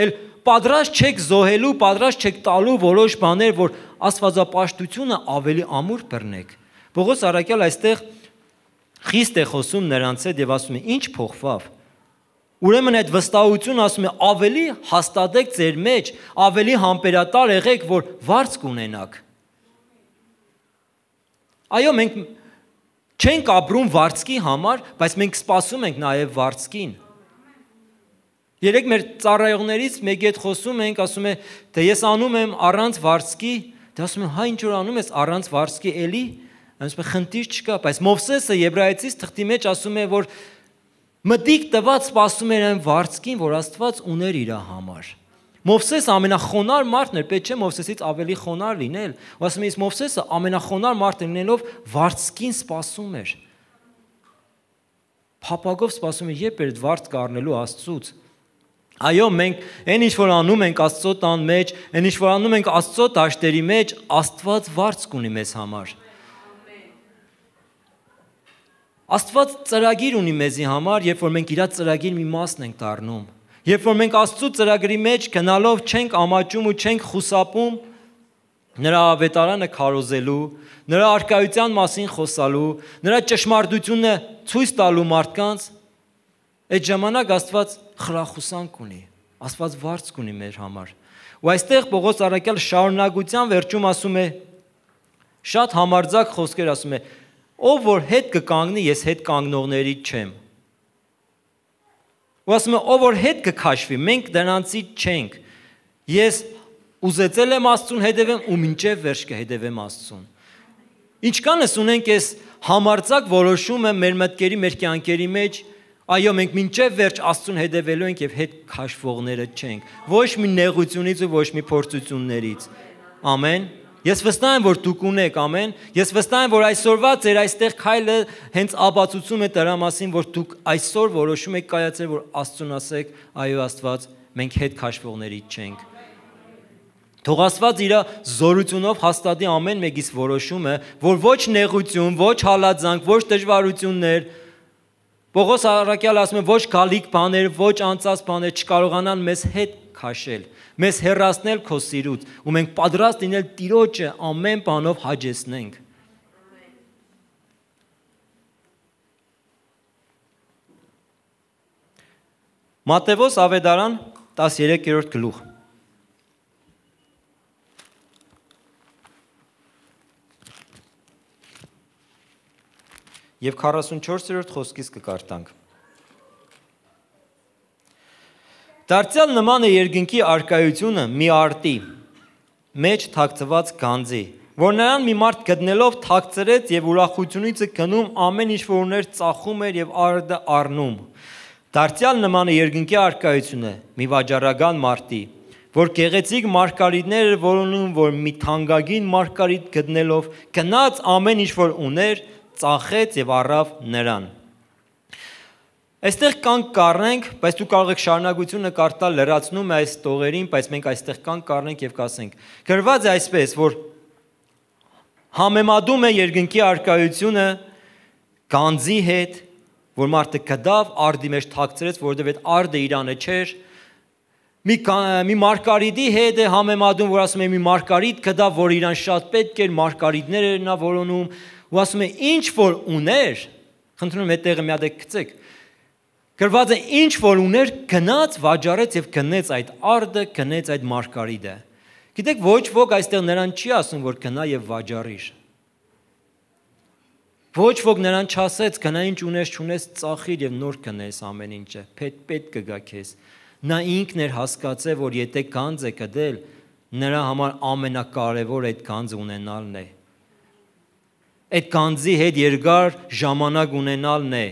Էլ պատրաստ չեք զոհելու, պատրաստ չեք տալու որոշ բաներ, որ աստվածապաշտությունը ավելի ամուր բռնեք։ Պողոս առաքյալ այստեղ խիստ է խոսում նրանց հետ եւ ասում է ինչ փոխվավ։ Ուրեմն այդ վստահությունը ասում է ավելի հաստատեք ձեր մեջ, ավելի համբերատար եղեք, որ վարձ կունենաք։ Այո, մենք չենք ապրում վարձքի համար, բայց մենք սպասում ենք նաև վարձքին։ Երեք մեր ծառայողներից մեկի հետ խոսում ենք, ասում է, թե ես անում եմ առանց վարձքի, դե ասում եմ, հա ինչ որ անում ես առանց վարձքի էլի, ասում է խնդիր չկա, բայց Մովսեսը Եբրայեցիս թղթի մեջ ասում է, որ մտիկ տված սպասում էր այն վարձքին, որ Աստված ուներ իր համար։ Մովսեսը ամենախոնար մարդն էր, պետք չէ Մովսեսից ավելի խոնար լինել։ Ու ասում եմ, Մովսեսը ամենախոնար մարդը լինելով վարձքին սպասում էր։ Փափագով սպասում էր, երբ էր վարձ կառնելու Աստծուց։ Այո, մենք այն ինչ որ անում ենք Աստծո տան մեջ, այն ինչ որ անում ենք Աստծո դաշտերի մեջ, Աստված վարձ կունի մեզ համար։ Աստված ծրագիր ունի մեզի համար, երբ որ մենք իր ծրագիր մի մասն ենք դառնում։ Երբ որ մենք Աստծո ծրագրի մեջ գնալով չենք ամաչում ու չենք խուսափում նրա ավետարանը քարոզելու, նրա արկայության մասին խոսալու, նրա ճշմարտությունը ցույց տալու մարդկանց, այդ ժամանակ Աստված խրախուսանք ունի, Աստված վարձ կունի մեր համար։ Ու այստեղ Պողոս առաքյալ շարունակության վերջում ասում է շատ համարձակ խոսքեր ասում է. ով որ հետ կկանգնի, ես հետ կանգնողներից չեմ։ Ու ասում է, ով որ հետ կքաշվի, մենք դրանցից չենք։ Ես ուզեցել եմ Աստծուն հետևեմ ու մինչև վերջ կհետևեմ Աստծուն։ Ինչքանս ունենք այս համարձակ որոշումը մեր մտքերի, մեր կյանքերի մեջ, այո, մենք մինչև վերջ Աստծուն հետևելու ենք եւ հետ քաշվողները չենք։ Ոչ մի նեղությունից ու ոչ մի փորձություններից։ Ամեն։ Ես վստահ եմ, որ դուք ունեք, ամեն։ Ես վստահ եմ, որ այսօրվա ձեր այստեղ քայլը հենց ապացուցում է դրա մասին, որ դուք այսօր որոշում եք կայացել, որ Աստծուն ասեք, այո Աստված, մենք հետ քաշվողներից չենք։ Թող Աստված իր զորությունով հաստատի ամեն մեկից որոշումը, որ ոչ նեղություն, ոչ հալածանք, ոչ դժվարություններ, Պողոս առաքյալը ասում է ոչ գալիք բաներ, ոչ անցած բաներ չկարողանան մեզ հետ քաշել, մեզ հեռացնել քո սիրուց, ու մենք պատրաստ լինել Տիրոջը ամեն բանով հաջեցնենք։ Մատթեոս ավետարան տասներկերորդ գլուխ։ Եվ քառասունչորսերորդ խոսքից կկարտանք։ Դարձյալ նման է երկնքի առկայությունը մի արտի մեջ թաքցված գանձի, որ նրան մի մարդ գտնելով թաքցրեց եւ ուրախությունից գնում ամեն ինչ որ ուներ ծախում էր եւ արդը առնում։ Դարձյալ նման է երկնքի առկայությունը մի վաճառական մարտի, որ գեղեցիկ մարգարիտներ էր որոնում, որ մի թանկագին մարգարիտ գտնելով գնաց ամեն ինչ որ ուներ ծախեց եւ առավ նրան։ Այստեղ կանք կառնենք, բայց դու կարող եք շարունակությունը կարդալ, լրացնում է այս տողերին, բայց մենք այստեղ կանք կառնենք եւ կասենք։ Գրված է այսպես, որ համեմատում է երկնքի առկայությունը գանձի հետ, որ մարդը կդավ արդի մեջ թաքցրեց, որովհետեւ այդ արդը իրանը չէր։ Մի մի մարգարիտի հետ է համեմատում, որ ասում է մի մարգարիտ կդավ, որ իրան շատ պետք էր, մարգարիտներ էր նա որոնում, ու ասում է ինչ որ ուներ, խնդրում եմ այդ տեղը մի հատ գցեք։ Գրված է ինչ որ ուներ գնաց վաճառեց եւ գնեց այդ արդը, գնեց այդ մարգարիտը։ Գիտեք, ոչ ոք այստեղ նրան չի ասում, որ գնա եւ վաճառիր։ Ոչ ոք նրան չասեց, գնա ինչ ունես, չունես, ծախիր եւ նոր գնես ամեն ինչը։ Պետք պետք կգա քեզ։ Նա ինքն էր հասկացել, որ եթե գանձ է կդել, նրա համար ամենակարևոր այդ գանձը ունենալն է։ Այդ գանձի հետ երկար ժամանակ ունենալն է։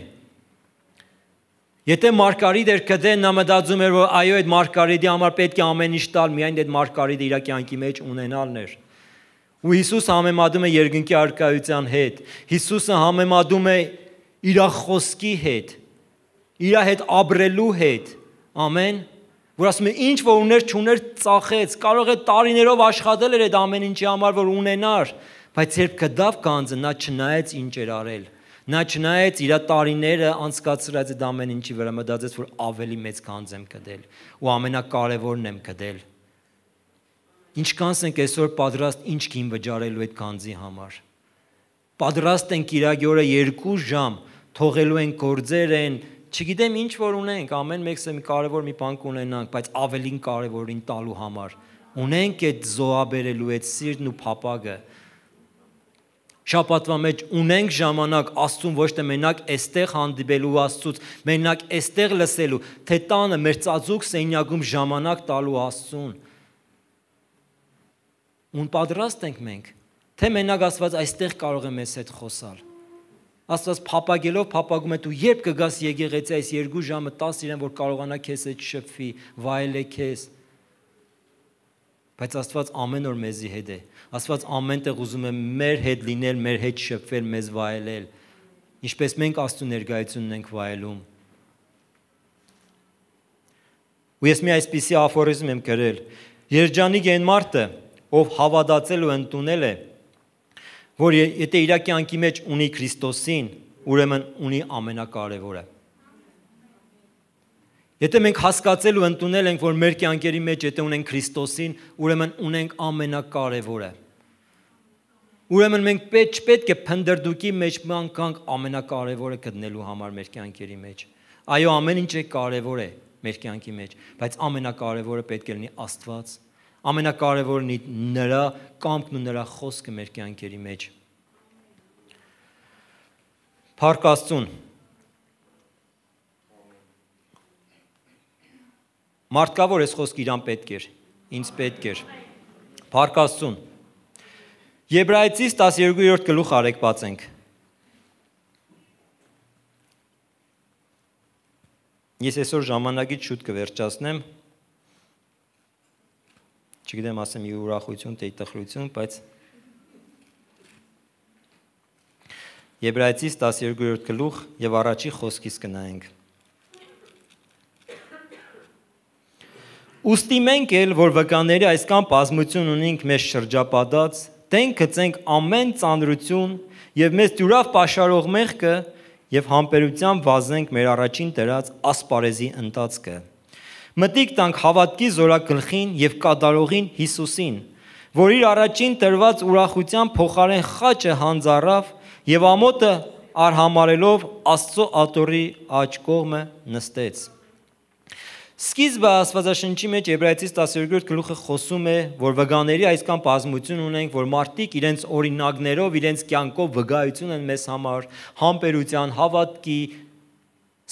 Եթե մարգարիտ էր կդեն, նա մտածում էր, որ այո, այդ մարգարիտի համար պետք է ամեն ինչ տալ, միայն այդ մարգարիտը իր կյանքի մեջ ունենալն էր։ Ու Հիսուսը համեմատում է երկնքի առկայության հետ։ Հիսուսը համեմատում է իր խոսքի հետ, իր հետ ապրելու հետ։ Ամեն, որ ասում է ինչ որ ուներ չուներ ծախեց, կարող է տարիներով աշխատել էր այդ ամեն ինչի համար, որ ունենար, բայց երբ կդավ գանձը, նա չնայեց ինչ էր արել։ Նա չնայեց իր տարիները անցկացրած այդ ամեն ինչի վրա, մտածեց, որ ավելի մեծ գանձ եմ կդել ու ամենակարևորն եմ կդել։ Ինչքանս ենք այսօր պատրաստ ինչ գին վճարելու այդ գանձի համար։ Պատրաստ ենք Կիրակի օրը երկու ժամ թողելու են գործեր են, չգիտեմ ինչ որ ունենք, ամեն մեկը մի կարևոր մի բան կունենանք, բայց ավելին կարևորին տալու համար։ Ունենք այդ զոհաբերելու այդ սիրտն ու փափագը։ Շաբաթվա մեջ ունենք ժամանակ Աստծուն ոչ թե մենակ այստեղ հանդիպելու Աստծուց, մենակ այստեղ լսելու, թե տանը մեր ծածուկ սենյակում ժամանակ տալու Աստծուն։ Ուն պատրաստ ենք մենք, թե մենակ Աստված այստեղ կարող է մեզ հետ խոսալ։ Աստված փափագելով փափագում է դու երբ կգաս եկեղեցի այս երկու ժամը տաս իրեն, որ կարողանա քեզ հետ շփվի, վայելե քեզ։ Բայց Աստված ամեն օր մեզի հետ է։ Աստված ամենտեղ ուզում է մեր հետ լինել, մեր հետ շփվել, մեզ վայելել, ինչպես մենք Աստծո ներկայությունն ենք վայելում։ Ու ես մի այսպիսի աֆորիզմ եմ գրել. Երջանիկ է այն մարդը, ով հավատացել ու ընդունել է, որ եթե իր կյանքի մեջ ունի Քրիստոսին, ուրեմն ունի ամենակարևորը։ Եթե մենք հասկացել ու ընդունել ենք, որ մեր կյանքերի մեջ եթե ունենք Քրիստոսին, ուրեմն ունենք ամենակարևորը։ Ուրեմն մենք պետք չպետք է փնդրդուկի մեջ մանկանք ամենակարևորը գտնելու համար մեր կյանքերի մեջ։ Այո, ամեն ինչ է կարևոր է մեր կյանքի մեջ, բայց ամենակարևորը պետք է լինի Աստված։ Ամենակարևորն է նրա կամքն ու նրա խոսքը մեր կյանքերի մեջ։ Փառք Աստծուն։ Մարդկավոր այս խոսքը իրան պետք էր, ինձ պետք էր։ Փառք Աստծուն։ Եբրայեցիս տասներկուերորդ գլուխ արեք բացենք։ Ես այսօր ժամանակից շուտ կվերջացնեմ։ Չգիտեմ ասեմ ի ուրախություն, թե ի տխրություն, բայց Եբրայեցիս տասներկուերորդ գլուխ եւ առաջի խոսքից կնայենք։ Ոստի մենք էլ, որ վկաների այսքան բազմություն ունենք մեզ շրջապատած, տենք գծենք ամեն ծանրություն եւ մեզ դյուրավ պաշարող մեղքը եւ համբերությամբ վազենք մեր առաջին դրած ասպարեզի ընթացքը։ Մտիկ տանք հավատքի զորագլխին եւ կատարողին Հիսուսին, որ իր առաջին տրված ուրախության փոխարեն խաչը հանձարավ եւ ամոթը արհամարելով Աստծո աթոռի աջ կողմը նստեց։ Սկիզբը Աստվածաշնչի մեջ Եբրայեցիս տասներորդ գլուխը խոսում է, որ վկաների այսքան բազմություն ունենք, որ մարդիկ իրենց օրինակներով, իրենց կյանքով վկայություն են մեզ համար, համբերության, հավատքի,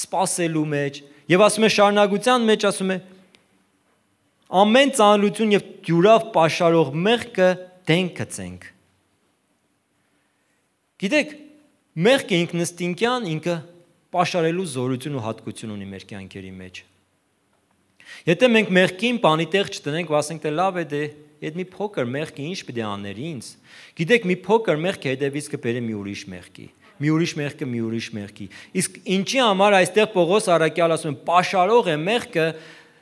սպասելու մեջ, եւ ասում է շարունակության մեջ ասում է ամեն ծանրություն եւ դյուրավ պաշարող մեղքը դենք գծենք։ Գիտեք, մեղքը ինքնըստինքյան ինքը պաշարելու զորություն ու հատկություն ունի մեր կյանքերի մեջ։ Եթե մենք մեղքին բանի տեղ չտնենք, ասենք թե լավ է դե, այդ մի փոքր մեղքը ինչ պետք է աներ ինձ։ Գիտեք, մի փոքր մեղքը հետևից կբերի մի ուրիշ մեղքի, մի ուրիշ մեղքը մի ուրիշ մեղքի։ Իսկ ինչի համար այստեղ Պողոս առաքյալ ասում է պաշարող է մեղքը,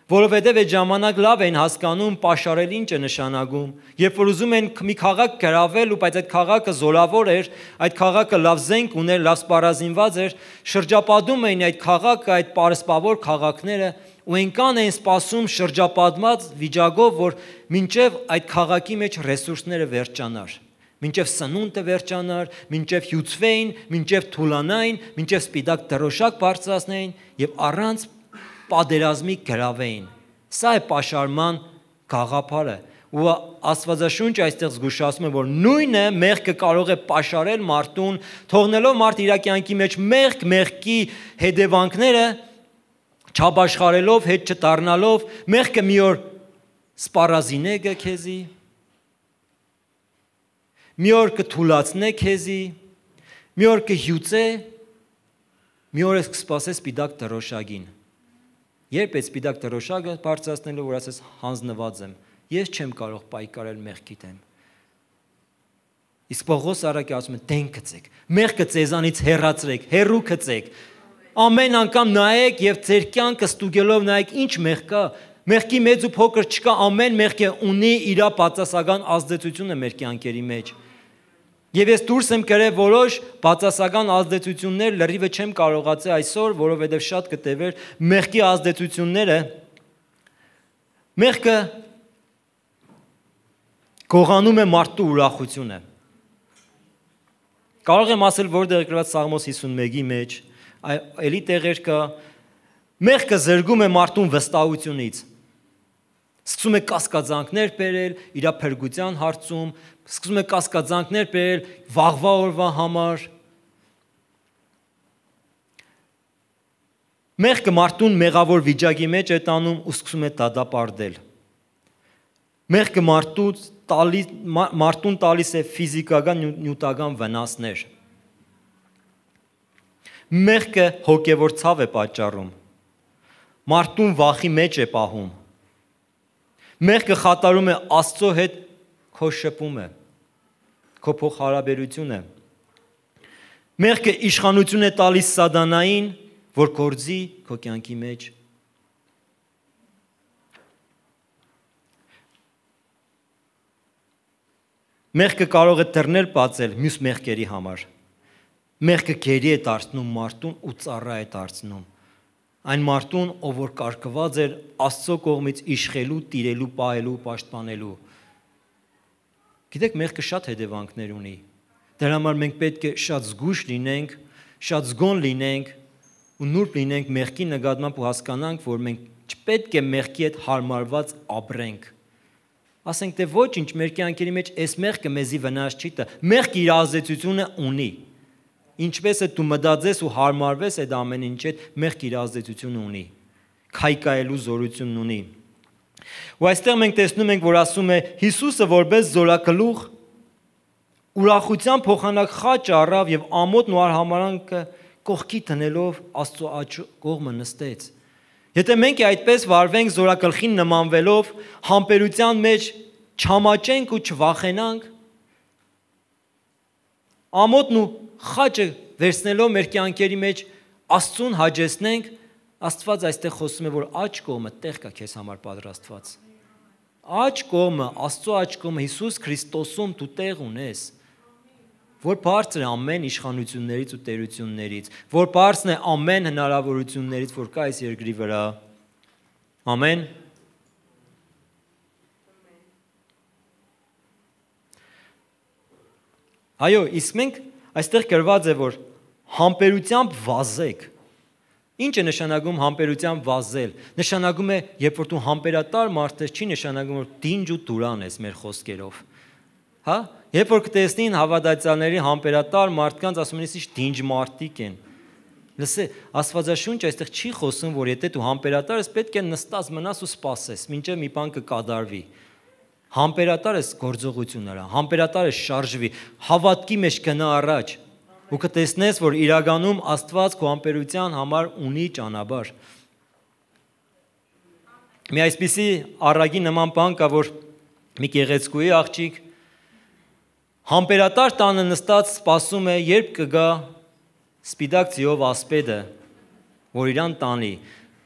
որովհետև այդ ժամանակ լավ են հասկանում պաշարել ինչ է նշանակում։ Երբ որ ուզում են մի քաղաք գրավել, ու բայց այդ քաղաքը զորավոր էր, այդ քաղաքը լավ զենք ուներ, լավ սպառազինված էր, շրջապատում էին այդ քաղաքը, այդ պարսպավոր քաղաքները, ու այնքան էին սպասում շրջապատված վիճակով, որ մինչև այդ քաղաքի մեջ ռեսուրսները վերջանար, մինչև սնունդը վերջանար, մինչև հյուծվեին, մինչև թուլանային, մինչև սպիտակ դրոշակ բարձրացնեին եւ առանց պատերազմի գրավեին։ Սա է պաշարման գաղափարը։ Ու Աստվածաշունչը այստեղ զգուշացնում է, որ նույնը մեղքը կարող է պաշարել մարդուն, թողնելով մարդ իր կյանքի մեջ մեղք, մեղքի հետևանքները չապաշխարելով, հետ չդառնալով, մեղքը մի օր սպառազինե քեզի, մի օր կթուլացնե քեզի, մի օր կհյուծե, մի օր ես կսպասես սպիտակ դրոշակին։ Երբ այդ սպիտակ դրոշակը բարձրացնելու, որ ասես հանձնված եմ, ես չեմ կարող պայքարել մեղքի դեմ։ Իսկ Պողոս առաքյալը ասում է՝ դենք գծեք, մեղքը ձեզանից հեռացրեք, հեռու գծեք։ Ամեն անգամ նայեք եւ ձեր կյանքը ստուգելով նայեք ինչ մեղ կա։ Մեղքի մեծ ու փոքր չկա, ամեն մեղքը ունի իր բացասական ազդեցությունը մեր կյանքերի մեջ։ Եվ ես դուրս եմ կրել որոշ բացասական ազդեցություններ, լրիվը չեմ կարողացել այսօր, որովհետև շատ կտևեր մեղքի ազդեցությունները։ Մեղքը գողանում է մարդու ուրախությունը։ Կարող եմ ասել, որտեղ գրված Սաղմոս հիսունմեկի մեջ, էլի տեղեր կա, մեղքը զրկում է մարդուն վստահությունից։ Սկսում է կասկածանքներ բերել իր փրկության հարցում, սկսում է կասկածանքներ բերել վաղվա օրվա համար։ Մեղքը մարդուն մեղավոր վիճակի մեջ է տանում ու սկսում է դատապարտել։ Մեղքը մարդուն տալիս մարդուն տալիս է ֆիզիկական նյութական վնասներ։ Մեղքը հոգևոր ցավ է պատճառում։ Մարդուն վախի մեջ է պահում։ Մեղքը խաթարում է Աստծո հետ քո շփումը, քո փոխհարաբերությունը։ Մեղքը իշխանություն է տալիս սատանային, որ գործի քո կյանքի մեջ։ Մեղքը կարող է դռներ բացել մյուս մեղքերի համար։ Մեղքը գերի է դարձնում մարդուն ու ծառա է դարձնում։ Այն մարդուն, ով որ կարգված էր Աստծո կողմից իշխելու, տիրելու, պահելու, պաշտպանելու։ Գիտեք, մեղքը շատ հետևանքներ ունի։ Դրա համար մենք պետք է շատ զգույշ լինենք, շատ զգոն լինենք ու նուրբ լինենք մեղքի նկատմամբ ու հասկանանք, որ մենք չպետք է մեղքի հետ հարմարված ապրենք։ Ասենք թե ոչինչ մեր կյանքերի մեջ այս մեղքը մեզի վնաս չի տա։ Մեղքը իր ազդեցությունը ունի։ Ինչպես է դու մտածես ու հարմարվես այդ ամեն ինչ հետ, մեղքը իր ազդեցությունը ունի, քայքայելու զորություն ունի։ Ու այստեղ մենք տեսնում ենք, որ ասում է Հիսուսը որպես զորագլուխ ուրախության փոխանակ խաչ առավ եւ ամոթն ու արհամարանքը կողքի տնելով Աստծո աջ կողմը նստեց։ Եթե մենք այդպես վարվենք զորագլխին նմանվելով, համբերության մեջ չամաչենք ու չվախենանք, ամոթն ու խաչը վերցնելով մեր կյանքերի մեջ Աստծուն հաջեցնենք, Աստված այստեղ խոսում է, որ աջ կողմը տեղ կա քեզ համար պատրաստված։ Աջ կողմը, Աստծո աջ կողմը Հիսուս Քրիստոսում դու տեղ ունես, որ բարձր է ամեն իշխանություններից ու տերություններից, որ բարձր է ամեն հնարավորություններից, որ կա այս երկրի վրա։ Ամեն։ Այո, իսկ մենք այստեղ գրված է, որ համբերությամբ վազեք։ Ինչ է նշանակում համբերությամբ վազել։ Նշանակում է, երբ որ դու համբերատար մարդ ես, չի նշանակում, որ դինջ ու դուրան ես մեր խոսքերով։ Հա? Երբ որ կտեսնին հավատացյալների համբերատար մարդկանց, ասում են, իսկ դինջ մարդիկ են։ Լսե, Աստվածաշունչը այստեղ չի խոսում, որ եթե դու համբերատար ես, պետք է նստած մնաս ու սպասես, մինչև մի բան կկատարվի։ Համբերատար ես գործողություն արա, համբերատար ես շարժվի, հավատքի մեջ գնա առաջ։ Ու կտեսնես, որ իրականում Աստված քո համբերության համար ունի ճանապարհ։ Մի այսպիսի առագի նման բան կա, որ մի գեղեցկուի աղջիկ համբերատար տանը նստած սպասում է, երբ կգա սպիտակ ձիով ասպետը, որ իրան տանի։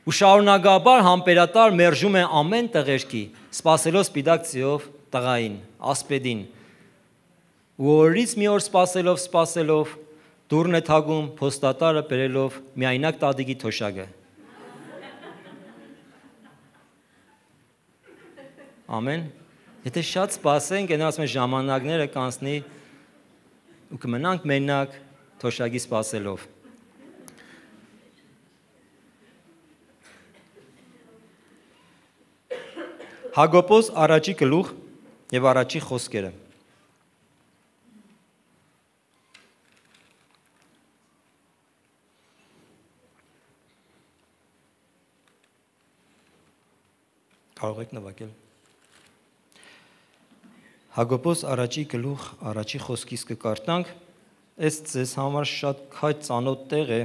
Ու շարունակաբար համբերատար մերժում է ամեն տղերքի, սպասելով սպիտակ ձիով տղային, ասպետին։ Ու օրից մի օր սպասելով, սպասելով դուրն է թագում, փոստատարը բերելով միայնակ տատիկի թոշակը։ Ամեն։ Եթե շատ սպասենք, այն ասում են ժամանակները կանցնի ու կմնանք մենակ թոշակի սպասելով։ Հակոբոս առաջի գլուխ եւ առաջի խոսքերը։ Կարող եք նվագել։ Հակոբոս առաջի գլուխ առաջի խոսքից կկարտանք, այս ձեզ համար շատ քայլ ծանոթ տեղ է։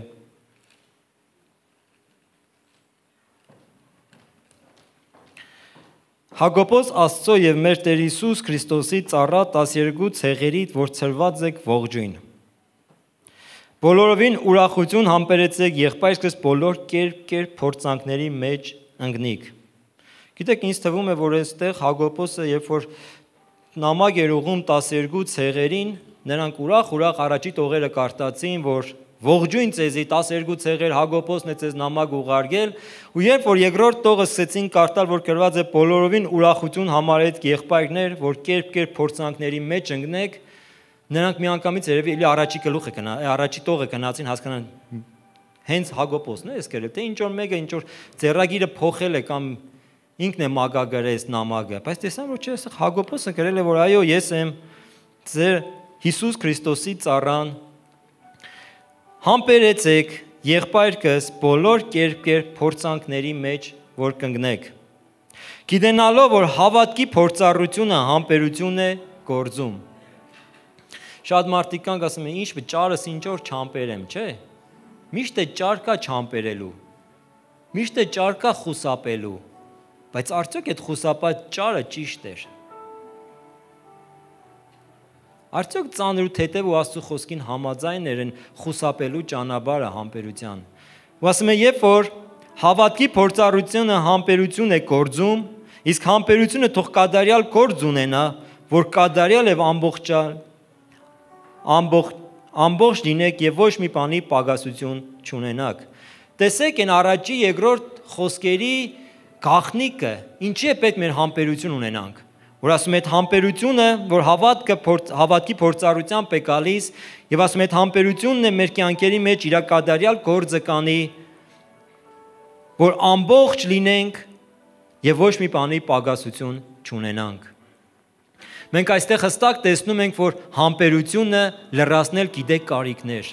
Հակոբոս Աստծո եւ մեր Տեր Հիսուս Քրիստոսի ծառա տասներկու ցեղերից, որ ցրված եք ողջույն։ Բոլորովին ուրախություն համբերեցեք եղբայրս բոլոր կերպ-կերպ փորձանքների մեջ ընկնիք։ Գիտեք, ինձ թվում է, որ այստեղ Հակոբոսը, երբ որ նամակ էր ուղում տասներկու ցեղերին, նրանք ուրախ-ուրախ առաջի տողերը կարտացին, որ ողջույն ձեզի տասներկու ցեղեր Հակոբոսն է ձեզ նամակ ուղարկել, ու երբ որ երկրորդ տողը սկսեցին կարդալ, որ գրված է բոլորովին ուրախություն համարեք եղբայրներ, որ կերպ-կերպ փորձանքների մեջ ընկնեք, նրանք միանգամից երևի էլի առաջի գլուխը գնա, առաջի տողը գնացին հասկանան հենց Հակոբոսն է էս գրել, թե ինչ որ մեկը ինչ որ ձեռագիրը փոխել է կամ ինքն է մագագրես նամակը, բայց տեսան, որ չէ, Հակոբոսը գրել է, որ այո, ես եմ ձեր Հիսուս Քրիստոսի ծառան, համբերեցեք եղբայրքս բոլոր կերպ-կերպ փորձանքների մեջ, որ կընկնեք։ Գիտենալով, որ հավատքի փորձառությունը համբերություն է գործում։ Շատ մարդիկ կան ասում են, ինչ ճարս ինչ որ չամբերեմ, չէ։ Միշտ է ճար կա չամբերելու։ Միշտ է ճար կա խուսափելու։ Բայց արդյոք այդ խուսափած ճարը ճիշտ էր։ Արդյոք ծանր ու թեթև ու Աստծո խոսքին համաձայն էր խուսափելու ճանապարհը համբերության։ Ու ասում է, երբ որ հավատքի փորձառությունը համբերություն է գործում, իսկ համբերությունը թող կատարյալ գործ ունենա, որ կատարյալ եւ ամբողջալ ամբողջ ամբողջ լինեք եւ ոչ մի բանի պակասություն չունենաք։ Տեսեք այն առաջի երկրորդ խոսքերի գաղտնիքը, ինչի է պետք մեր համբերություն ունենանք։ Որ ասում է, այդ համբերությունը, որ հավատքը հավատքի փորձառությամբ է գալիս, եւ ասում է, այդ համբերությունն է մեր կյանքերի մեջ իր կատարյալ գործը կանի, որ ամբողջ լինենք եւ ոչ մի բանի պակասություն չունենանք։ Մենք այստեղ հստակ տեսնում ենք, որ համբերությունը լրացնել գիտեք կարիքներ։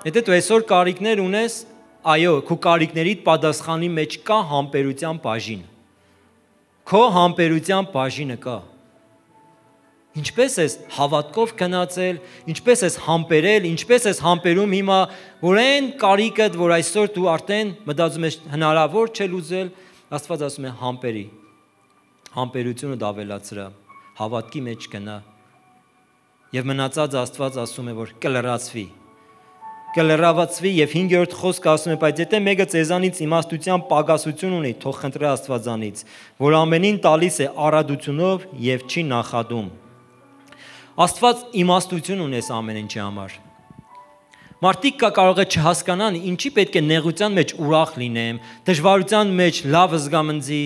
Եթե դու այսօր կարիքներ ունես, այո, քո կարիքներիդ պատասխանի մեջ կա համբերության բաժին։ Քո համբերության բաժինը կա։ Ինչպես ես հավատքով գնացել, ինչպես ես համբերել, ինչպես ես համբերում հիմա, որ այն կարիքդ, որ այսօր դու արդեն մտածում ես հնարավոր չէ լուծել, Աստված ասում է համբերի։ Համբերությունը դավելացրա, հավատքի մեջ գնա։ Եվ մնացած Աստված ասում է, որ կլրացվի։ կլրավացվի եւ հինգերորդ խոսքը ասում է, բայց եթե մեկը ձեզանից իմաստության պակասություն ունի, թող խնդրի Աստվածանից, որ ամենին տալիս է առատությունով եւ չի նախադում։ Աստված իմաստություն ունի այս ամեն ինչի համար։ Մարդիկ կա կարող է չհասկանան, ինչի պետք է նեղության մեջ ուրախ լինեմ, դժվարության մեջ լավ զգամնձի։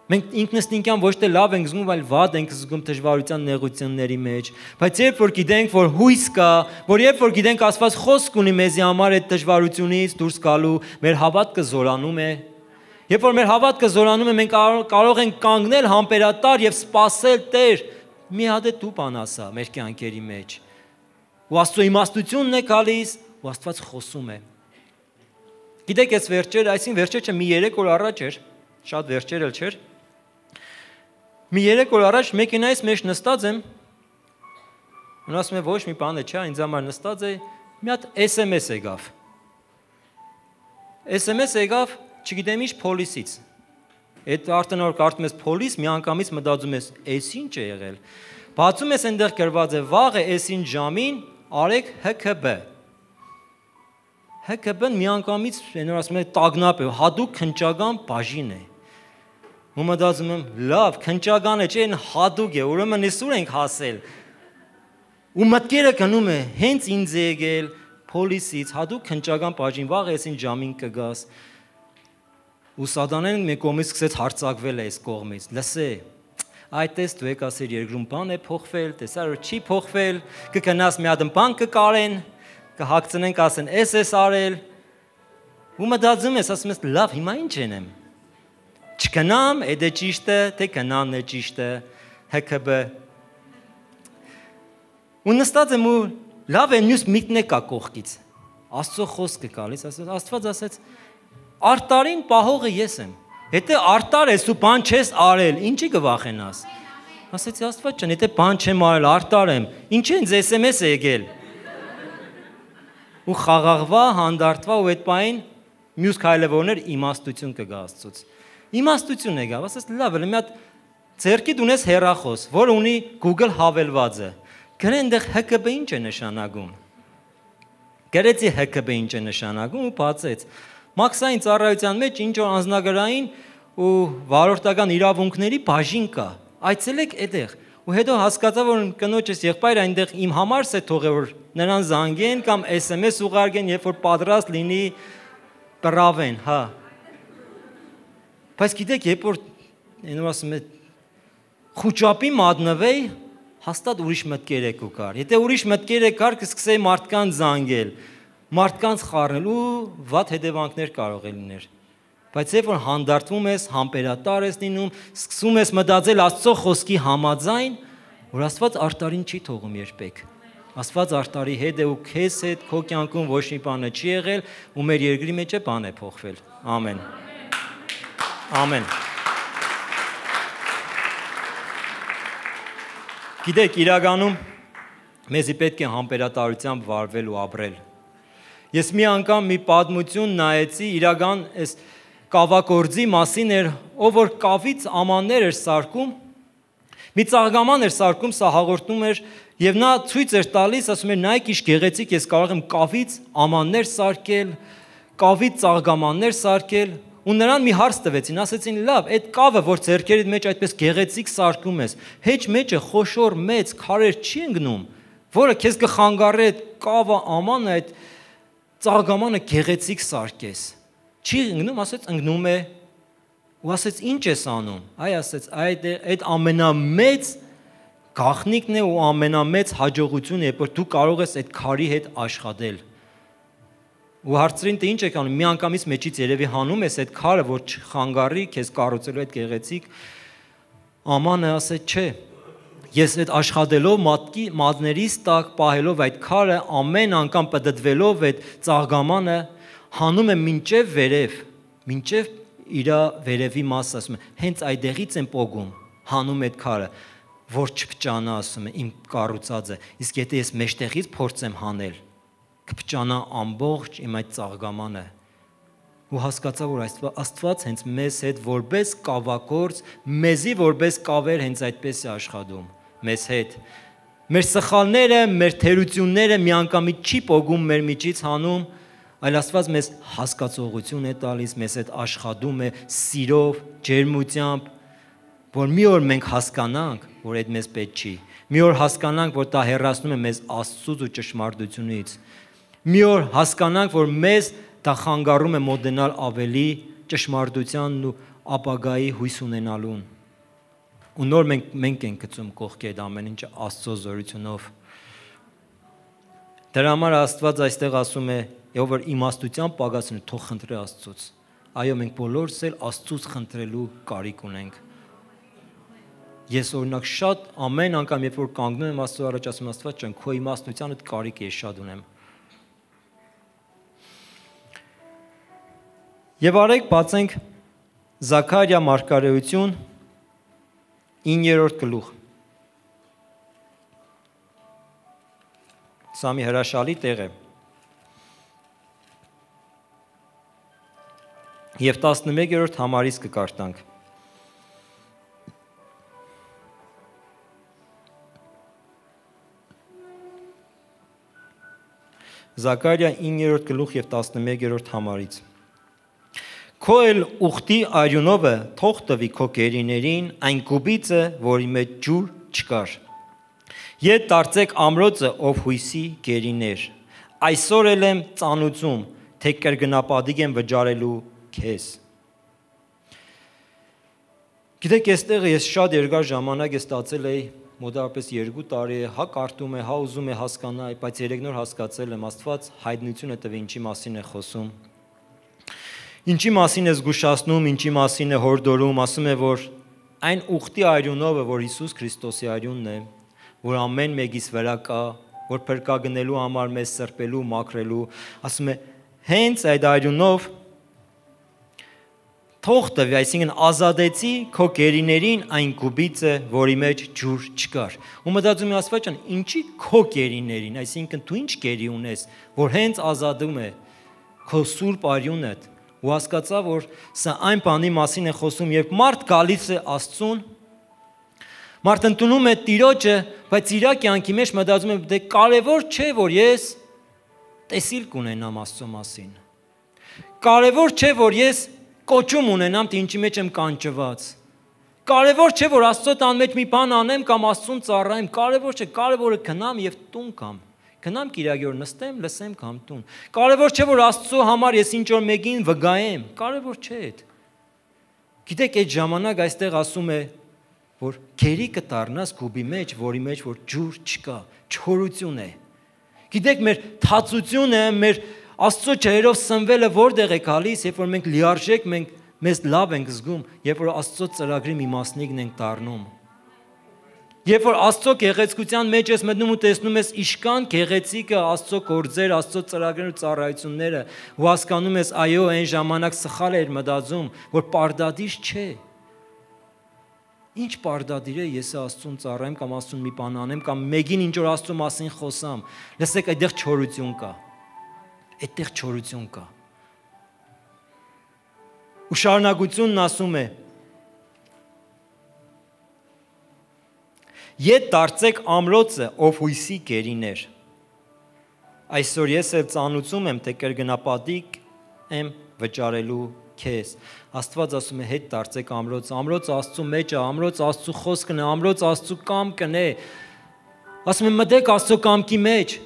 Մենք ինքնըստինքյան ոչ թե լավ ենք զգում, այլ վատ ենք զգում դժվարության նեղությունների մեջ, բայց երբ որ գիտենք, որ հույս կա, որ երբ որ գիտենք Աստված խոսք ունի մեզի համար այդ դժվարությունից դուրս գալու, մեր հավատքը զորանում է։ Երբ որ մեր հավատքը զորանում է, մենք կարող ենք կանգնել համբերատար եւ սпасել Տեր, մի հատ է դու բան ասա մեր կյանքերի մեջ։ Ու Աստծո իմաստությունն է գալիս, ու Աստված խոսում է։ Գիտեք, այս վերջերը, այսին վերջերը մի երեք օր առաջ էր, շատ վերջեր էլ չէր։ Մի երեք օր առաջ մեքենայից մեջ նստած եմ, ու ասում եմ ոչ մի բան է, չէ, ինձ համար նստած է, մի հատ էս էմ էս եկավ։ էս էմ էս եկավ, չգիտեմ ինչ փոլիսից։ Այդ արդեն որ կարդում ես փոլիս, մի անգամից մտածում ես, էս ինչ է եղել։ Բացում ես այնտեղ գրված է վաղը էսին ժամին արեք հ քը բը։ հ քը բը-ն մի անգամից այնօր ասում է տագնապ է, հատուկ քննչական բաժին է։ Ու մտածում եմ, լավ, քննչական է, չէ, այն հատուկ է, ուրեմն այսօր ենք հասել։ Ու մտքերը գնում է, հենց ինձ է եկել փոլիսից, հատուկ քննչական բաժին, վաղ էսին ժամին կգաս։ Ու սատանեն մի կողմից սկսեց հարձակվել այս կողմից։ Լսե, այդ տես դու եք ասել երկրում բան է փոխվել, տեսար որ չի փոխվել, կգնաս մի հատ բան կկարեն, կհագցնենք ասեն, էս էս արել։ Ու մտածում ես, ասում ես, լավ, հիմա ինչ ենեմ։ Չգնամ, այդ է ճիշտը, թե գնանն է ճիշտը, հ քը բը։ Ու նստած եմ ու լավ է մյուս միտքն է կա կողքից։ Աստծո խոսքը գալիս, ասես, Աստված ասեց, արտարին պահողը ես եմ։ Եթե արտար ես ու բան չես արել, ինչի կվախենաս։ Ասեցի Աստված ջան, եթե բան չեմ արել, արտար եմ, ինչ ինձ էս էմ էս է եկել։ Ու խաղաղվա, հանդարտվա ու այդ պահին մյուս քայլևորներ իմաստություն կգա Աստծուց։ Իմաստություն եկավ, ասես լավ է, մի հատ ձեռքիդ ունես հեռախոս, որ ունի Google հավելվածը։ Գրե այնտեղ հ քը բը ինչ է նշանակում։ Գրեցի հ քը բը ինչ է նշանակում ու բացեց։ Մաքսային ծառայության մեջ ինչ որ անձնագրային ու վարորդական իրավունքների բաժին կա։ Այցելեք այդտեղ։ Ու հետո հասկացա, որ կնոջս եղբայրը այնտեղ իմ համար է թողել, որ նրան զանգեն կամ էս էմ էս ուղարկեն, երբ որ պատրաստ լինի կռավեն, հա։ Բայց գիտեք, երբ որ այնու ասում է խոճապի մատնվեի, հաստատ ուրիշ մտքեր եք ու կար։ Եթե ուրիշ մտքեր եք կար, կսկսեի մարդկանց զանգել, մարդկանց խառնել ու վատ հետևանքներ կարող է լիներ։ Բայց երբ որ հանդարտվում ես, համբերատար ես լինում, սկսում ես մտածել Աստծո խոսքի համաձայն, որ Աստված արտարին չի թողում երբեք։ Աստված արտարի հետ է ու քեզ հետ քո կյանքում ոչ մի բան չի եղել ու մեր երկրի մեջ է բան է փոխվել։ Ամեն։ Ամեն։ Գիտեք, իրականում մեզի պետք է համբերատարությամբ վարվել ու ապրել։ Ես մի անգամ մի պատմություն նայեցի, իրական այս կավագործի մասին էր, ով որ կավից ամաններ էր սարքում, մի ծաղկաման էր սարքում, սա հաղորդում էր, եւ նա ցույց էր տալիս, ասում էր, նայեք ինչ գեղեցիկ, ես կարող եմ կավից ամաններ սարքել, կավից ծաղկամաններ սարքել, ու նրան մի հարց տվեցին, ասեցին, լավ, այդ կավը, որ ձեռքերիդ մեջ այդպես գեղեցիկ սարքում ես, հեչ մեջը խոշոր մեծ քարեր չի ընկնում, որը քեզ կխանգարի այդ կավը ամանը, այդ ծաղկամանը գեղեցիկ սարքես։ Չի ընկնում, ասեց ընկնում է, ու ասեց ինչ ես անում։ Այ ասեց, այդ այդ ամենամեծ գաղտնիքն է ու ամենամեծ հաջողությունն է, որ դու կարող ես այդ քարի հետ աշխատել։ Ու հարցրին թե ինչ եք անում, մի անգամից մեջից երևի հանում ես այդ քարը, որ չխանգարի քեզ կառուցելու այդ գեղեցիկ ամանը, ասեց չէ։ Ես այդ աշխատելով մատկի մատներից տակ պահելով այդ քարը ամեն անգամ պտտվելով այդ ծաղկամանը հանում եմ մինչև վերև, մինչև իր վերևի մասը, ասում եմ, հենց այդեղից եմ պոգում, հանում այդ քարը, որ չփճանա, ասում եմ, իմ կառուցածը, իսկ եթե ես մեջտեղից փորձեմ հանել, կփճանա ամբողջ իմ այդ ծաղկամանը։ Ու հասկացա, որ Աստված հենց մեզ հետ որպես կավագործ, մեզի որպես կավեր հենց այդպես է աշխատում, մեզ հետ։ Մեր սխալները, մեր թերությունները միանգամից չի պոգում մեր միջից հանում, այլ Աստված մեզ հասկացողություն է տալիս, մեզ հետ աշխատում է սիրով, ջերմությամբ, որ մի օր մենք հասկանանք, որ այդ մեզ պետք չի։ Մի օր հասկանանք, որ դա հեռացնում է մեզ Աստծուց ու ճշմարտությունից։ Մի օր հասկանանք, որ մեզ դա խանգարում է մոտենալ ավելի ճշմարտությանն ու ապագայի հույս ունենալուն։ Ու նոր մենք մենք ենք գցում կողքի այդ ամեն ինչը Աստծո զորությունով։ Դրա համար Աստված այստեղ ասում է, ով որ իմաստության պակասն է, թող խնդրի Աստծուց։ Այո, մենք բոլորս էլ Աստծուց խնդրելու կարիք ունենք։ Ես օրինակ շատ ամեն անգամ երբ որ կանգնում եմ Աստծո առաջ ասում Աստված ջան, քո իմաստությանդ կարիք ես շատ ունեմ։ Եվ արեք բացենք Զաքարիա մարգարեություն իններորդ գլուխ։ Սա մի հրաշալի տեղ է։ Եվ տասնմեկերորդ համարից կկարտանք։ Զաքարիա իններորդ գլուխ եւ տասնմեկերորդ համարից։ Քո էլ ուխտի արյունովը թող տվի քո գերիներին այն կուբիցը, որի մեջ ջուր չկար։ Ետ դարձեք ամրոցը, ով հույսի գերիներ։ Այսօր էլ եմ ծանուցում, թե կրկնապատիկ եմ վճարելու քեզ։ Գիտեք, այստեղ ես շատ երկար ժամանակ ես ստացել էի, մոտավորապես երկու տարի է, հա կարդում է, հա ուզում է հասկանալ, բայց երեք նոր հասկացել եմ, Աստված հայտնություն է տվել ինչի մասին է խոսում։ Ինչի մասին է զգուշացնում, ինչի մասին է հորդորում, ասում է, որ այն ուխտի արյունովը, որ Հիսուս Քրիստոսի արյունն է, որ ամեն մեկից վրա կա, որ փրկագնելու համար մեզ սրբելու, մաքրելու, ասում է, հենց այդ արյունով թող տվի, այսինքն ազատեցի քո գերիներին այն կուբիցը, որի մեջ ջուր չկար։ Ու մտածում եմ Աստված ջան, ինչի քո գերիներին, այսինքն դու ինչ գերի ունես, որ հենց ազատում է քո սուրբ արյունդ։ Ու հասկացա, որ սա այն բանի մասին է խոսում, երբ մարդ գալիս է Աստծուն, մարդ ընդունում է Տիրոջը, բայց իր կյանքի մեջ մտածում է, դե կարևոր չէ, որ ես տեսիլ կունենամ Աստծո մասին։ Կարևոր չէ, որ ես կոչում ունենամ, թե ինչի մեջ եմ կանչված։ Կարևոր չէ, որ Աստծո տան մեջ մի բան անեմ կամ Աստծուն ծառայեմ, կարևոր չէ, կարևորը գնամ եւ տուն կամ Գնամ Կիրակի օր նստեմ, լսեմ կամ տուն։ Կարևոր չէ, որ Աստծո համար ես ինչ որ մեկին վգայեմ, կարևոր չէ այդ։ Գիտեք, այդ ժամանակ այստեղ ասում է, որ քերի կդառնաս գուբի մեջ, որի մեջ որ ջուր չկա, չորություն է։ Գիտեք, մեր թացությունը, մեր Աստծո ջերով սնվելը որտեղ է գալիս, երբ որ մենք լիարժեք, մենք մեզ լավ ենք զգում, երբ որ Աստծո ծրագրի մի մասնիկն ենք դառնում։ Երբ որ Աստծո գեղեցկության մեջ ես մտնում ու տեսնում ես իշքան գեղեցիկը Աստծո գործեր, Աստծո ծրագրերն ու ծառայությունները, ու հասկանում ես, այո, այն ժամանակ սխալ էր մտածում, որ պարտադիր չէ։ Ինչ պարտադիր է ես Աստծուն ծառայեմ կամ Աստծուն մի բան անեմ կամ մեկին ինչ որ Աստծո մասին խոսամ։ Լսեք, այդտեղ չորություն կա։ Այդտեղ չորություն կա։ Ու շարունակությունն ասում է. Ետ դարձեք ամրոցը, ով հույսի գերիներ։ Այսօր ես էլ ծանուցում եմ, թե կրկնապատիկ եմ վճարելու քեզ։ Աստված ասում է, հետ դարձեք ամրոցը, ամրոցը Աստծո մեջ է, ամրոցը Աստծո խոսքն է, ամրոցը Աստծո կամքն է։ Ասում է, մտեք Աստծո կամքի մեջ։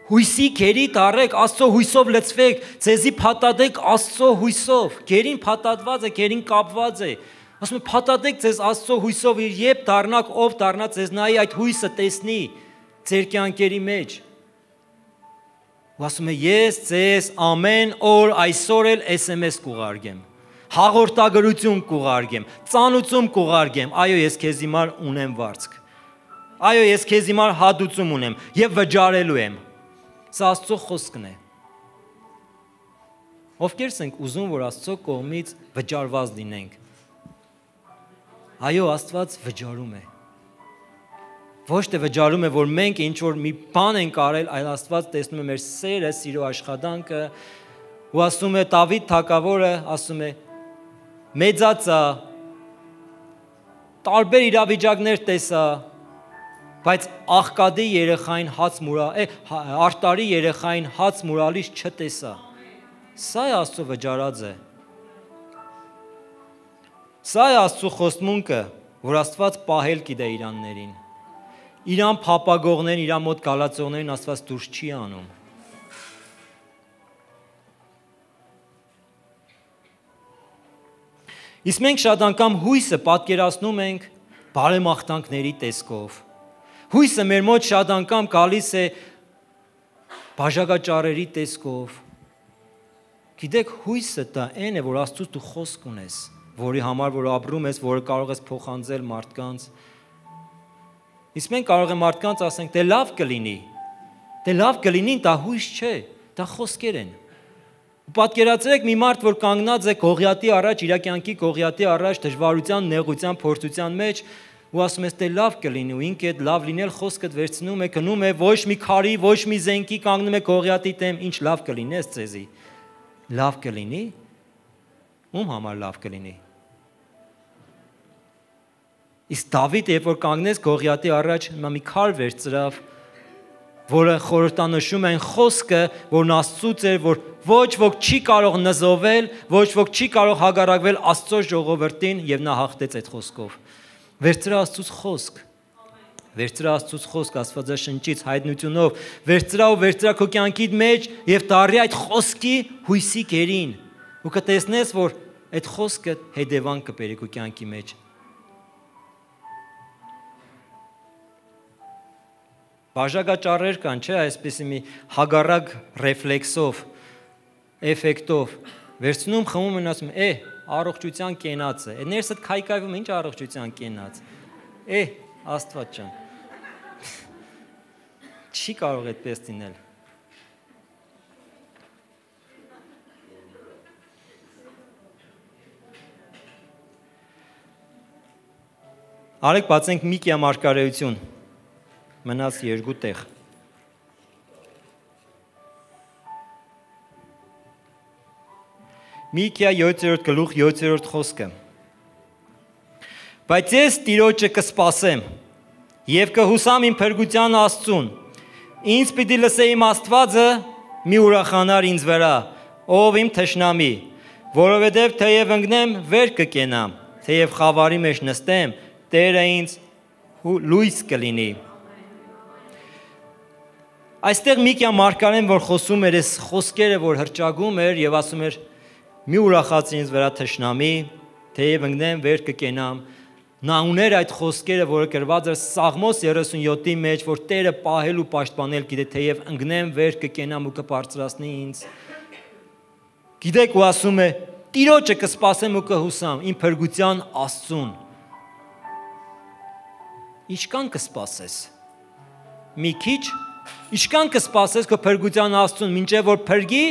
Հույսի գերի դարեք, Աստծո հույսով լցվեք, ձեզի փաթաթեք Աստծո հույսով։ Գերին փաթաթված է, գերին կապված է։ Ասում է, փաթաթեք ձեզ Աստծո հույսով, երբ դառնաք, ով դառնա ձեզ նայի այդ հույսը տեսնի ձեր կյանքերի մեջ։ Ու ասում է, ես ձեզ ամեն օր այսօր էլ էս էմ էս կուղարկեմ, հաղորդագրություն կուղարկեմ, ծանուցում կուղարկեմ, այո, ես քեզ հիմար ունեմ վարձք, այո, ես քեզ հիմար հատուցում ունեմ եւ վճարելու եմ։ Սա Աստծո խոսքն է։ Ովքեր ենք ուզում, որ Աստծո կողմից վճարված լինենք։ Այո, Աստված վճարում է։ Ոչ թե վճարում է, որ մենք ինչ որ մի բան ենք արել, այլ Աստված տեսնում է մեր սերը, սիրո աշխատանքը, ու ասում է Դավիթ թագավորը, ասում է մեծացա, տարբեր իրավիճակներ տեսա, Բայց աղկադի երեխային հաց մուրա, արտարի երեխային հաց մուրալից չտեսա։ Սա է Աստծո վճարածը։ Սա է Աստծո խոստմունքը, որ Աստված պահել գիտե իրաններին։ Իրան փապագողներին, իրան մոտ գալացողներին Աստված դուրս չի անում։ Իսկ մենք շատ անգամ հույսը պատկերացնում ենք բարեմաղթանքների տեսքով։ Հույսը մեր մոտ շատ անգամ գալիս է բաժակաճառերի տեսքով։ Գիտեք, հույսը դա այն է, որ Աստծուց դու խոսք ունես, որի համար որ ապրում ես, որը կարող ես փոխանցել մարդկանց։ Իսկ մենք կարող ենք մարդկանց ասենք, դե լավ կլինի։ Դե լավ կլինի, դա հույս չէ, դա խոսքեր են։ Պատկերացրեք մի մարդ, որ կանգնած է Գողիաթի առաջ, իր կյանքի Գողիաթի առաջ դժվարության, նեղության, փորձության մեջ, ու ասում ես, դե լավ կլինի, ու ինքը այդ լավ լինել խոսքդ վերցնում է, գնում է, ոչ մի քարի, ոչ մի զենքի կանգնում է Գողիաթի դեմ, ինչ լավ կլինի ես ձեզի։ Լավ կլինի։ Ում համար լավ կլինի։ Իսկ Դավիթը, երբ որ կանգնեց Գողիաթի առաջ, մի քար վերցրավ, որը խորհրդանշում է այն խոսքը, որն Աստծուց էր, որ ոչ ոք չի կարող նզովել, ոչ ոք չի կարող հագարակվել Աստծո ժողովրդին, եւ նա հաղթեց այդ խոսքով։ Վերցրա Աստծուց խոսք։ Վերցրա Աստծուց խոսք Աստվածաշնչից հայտնությունով, վերցրա ու վերցրա քո կյանքի մեջ եւ դառի այդ խոսքի հույսի գերին։ Ու կտեսնես, որ այդ խոսքը հետևանք կբերի քո կյանքի մեջ։ Բաժակաճառեր կան, չէ, այսպեսի մի հագարակ ռեֆլեքսով, էֆեկտով, վերցնում, խմում են, ասում, է, առողջության կենաց է, ներսդ քայքայվում, ինչ առողջության կենաց, է, Աստված ջան, չի կարող այդպես լինել։ Արեք բացենք Միկիա մարգարեություն, մնաց երկու տեղ։ Միկիա յոթերորդ գլուխ յոթերորդ խոսքը։ Բայց ես Տիրոջը կսպասեմ եւ կհուսամ իմ փրկության Աստծուն։ Ինձ պիտի լսե իմ Աստվածը, մի ուրախանար ինձ վրա, ով իմ թշնամի, որովհետեւ թեև ընկնեմ, վեր կկենամ, թեև խավարի մեջ նստեմ, Տերը ինձ լույս կլինի։ Այստեղ Միկիա մարգարեն, որ խոսում էր այս խոսքերը, որ հրճագում էր եւ ասում էր՝ մի ուրախացի ինձ վրա թշնամի, թեև ընկնեմ, վեր կկենամ։ Նա ուներ այդ խոսքերը, որը գրված էր Սաղմոս երեսունյոթի մեջ, որ Տերը պահել ու պաշտպանել գիտե, թեև ընկնեմ, վեր կկենամ ու կբարձրացնի ինձ։ Գիտեք, ու ասում է՝ Տիրոջը կսպասեմ ու կհուսամ, իմ փրկության Աստծուն։ Ինչքան կսպասես։ Մի քիչ, ինչքան կսպասես քո փրկության Աստծուն, մինչև որ փրկի,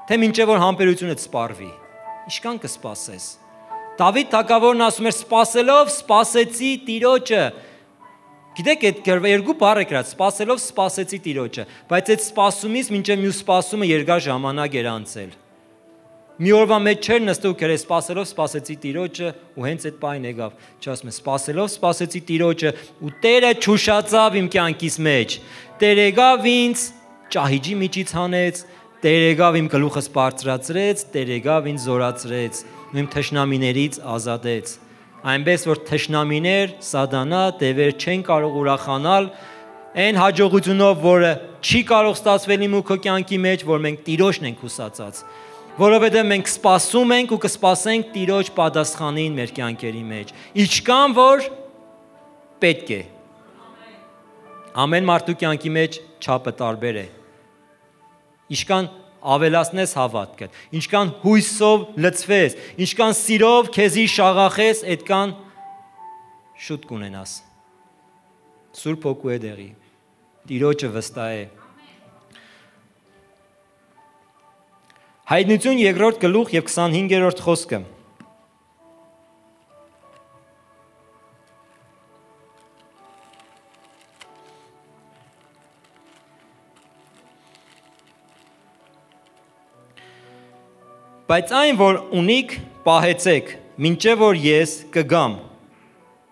թե մինչև որ համբերությունդ սպառվի։ Ինչքան կսպասես։ Դավիթ թագավորն ասում էր՝ սպասելով սպասեցի Տիրոջը։ Գիտեք, այդ երկու բառ է գրած, սպասելով սպասեցի Տիրոջը, բայց այդ սպասումից մինչև մյուս սպասումը երկար ժամանակ էր անցել։ Մի օրվա մեջ չէր նստու գրել սպասելով սպասեցի Տիրոջը ու հենց այդ պայն եկավ։ Չասում է սպասելով սպասեցի Տիրոջը ու Տերը ճուշացավ իմ կյանքիս մեջ։ Տերը եկավ ինձ ճահիճի միջից հանեց, Տերը եկավ իմ գլուխս բարձրացրեց, Տերը եկավ ինձ զորացրեց, իմ թշնամիներից ազատեց։ Այնպես որ թշնամիներ, սատանա, դևեր չեն կարող ուրախանալ այն հաջողությունով, որը չի կարող ստացվել իմ ու քո կյանքի մեջ, որ մենք Տիրոջն ենք հուսացած։ Որովհետև մենք սպասում ենք ու կսպասենք Տիրոջ պատասխանին մեր կյանքերի մեջ։ Ինչքան որ պետք է։ Ամեն մարդու կյանքի մեջ չափը տարբեր է։ Ինչքան ավելացնես հավատքը, ինչքան հույսով լցվես, ինչքան սիրով քեզի շաղախես, այդքան շուտ կունենաս։ Սուրբ Հոգու է դեղի։ Տիրոջը վստահ է։ Հայտնություն երկրորդ գլուխ եւ քսանհինգերորդ խոսքը։ Բայց այն, որ ունիք, պահեցեք, մինչև որ ես կգամ,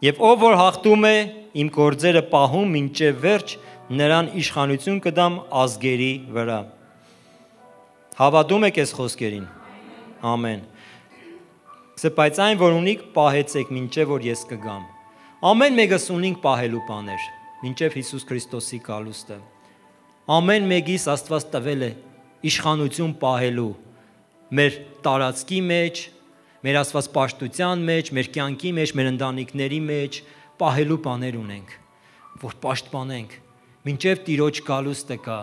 եւ ով որ հաղթում է, իմ գործերը պահում մինչև վերջ, նրան իշխանություն կդամ ազգերի վրա։ Հավատում եք այս խոսքերին։ Ամեն։ Բայց այն, որ ունիք, պահեցեք, մինչև որ ես կգամ։ Ամեն մեկս ունենք պահելու բաներ, մինչև Հիսուս Քրիստոսի գալուստը։ Ամեն մեկիս Աստված տվել է իշխանություն պահելու մեր տարածքի մեջ, մեր Աստված պաշտության մեջ, մեր կյանքի մեջ, մեր ընտանիքների մեջ պահելու բաներ ունենք, որ պաշտպանենք, մինչև Տիրոջ գալուստը գա։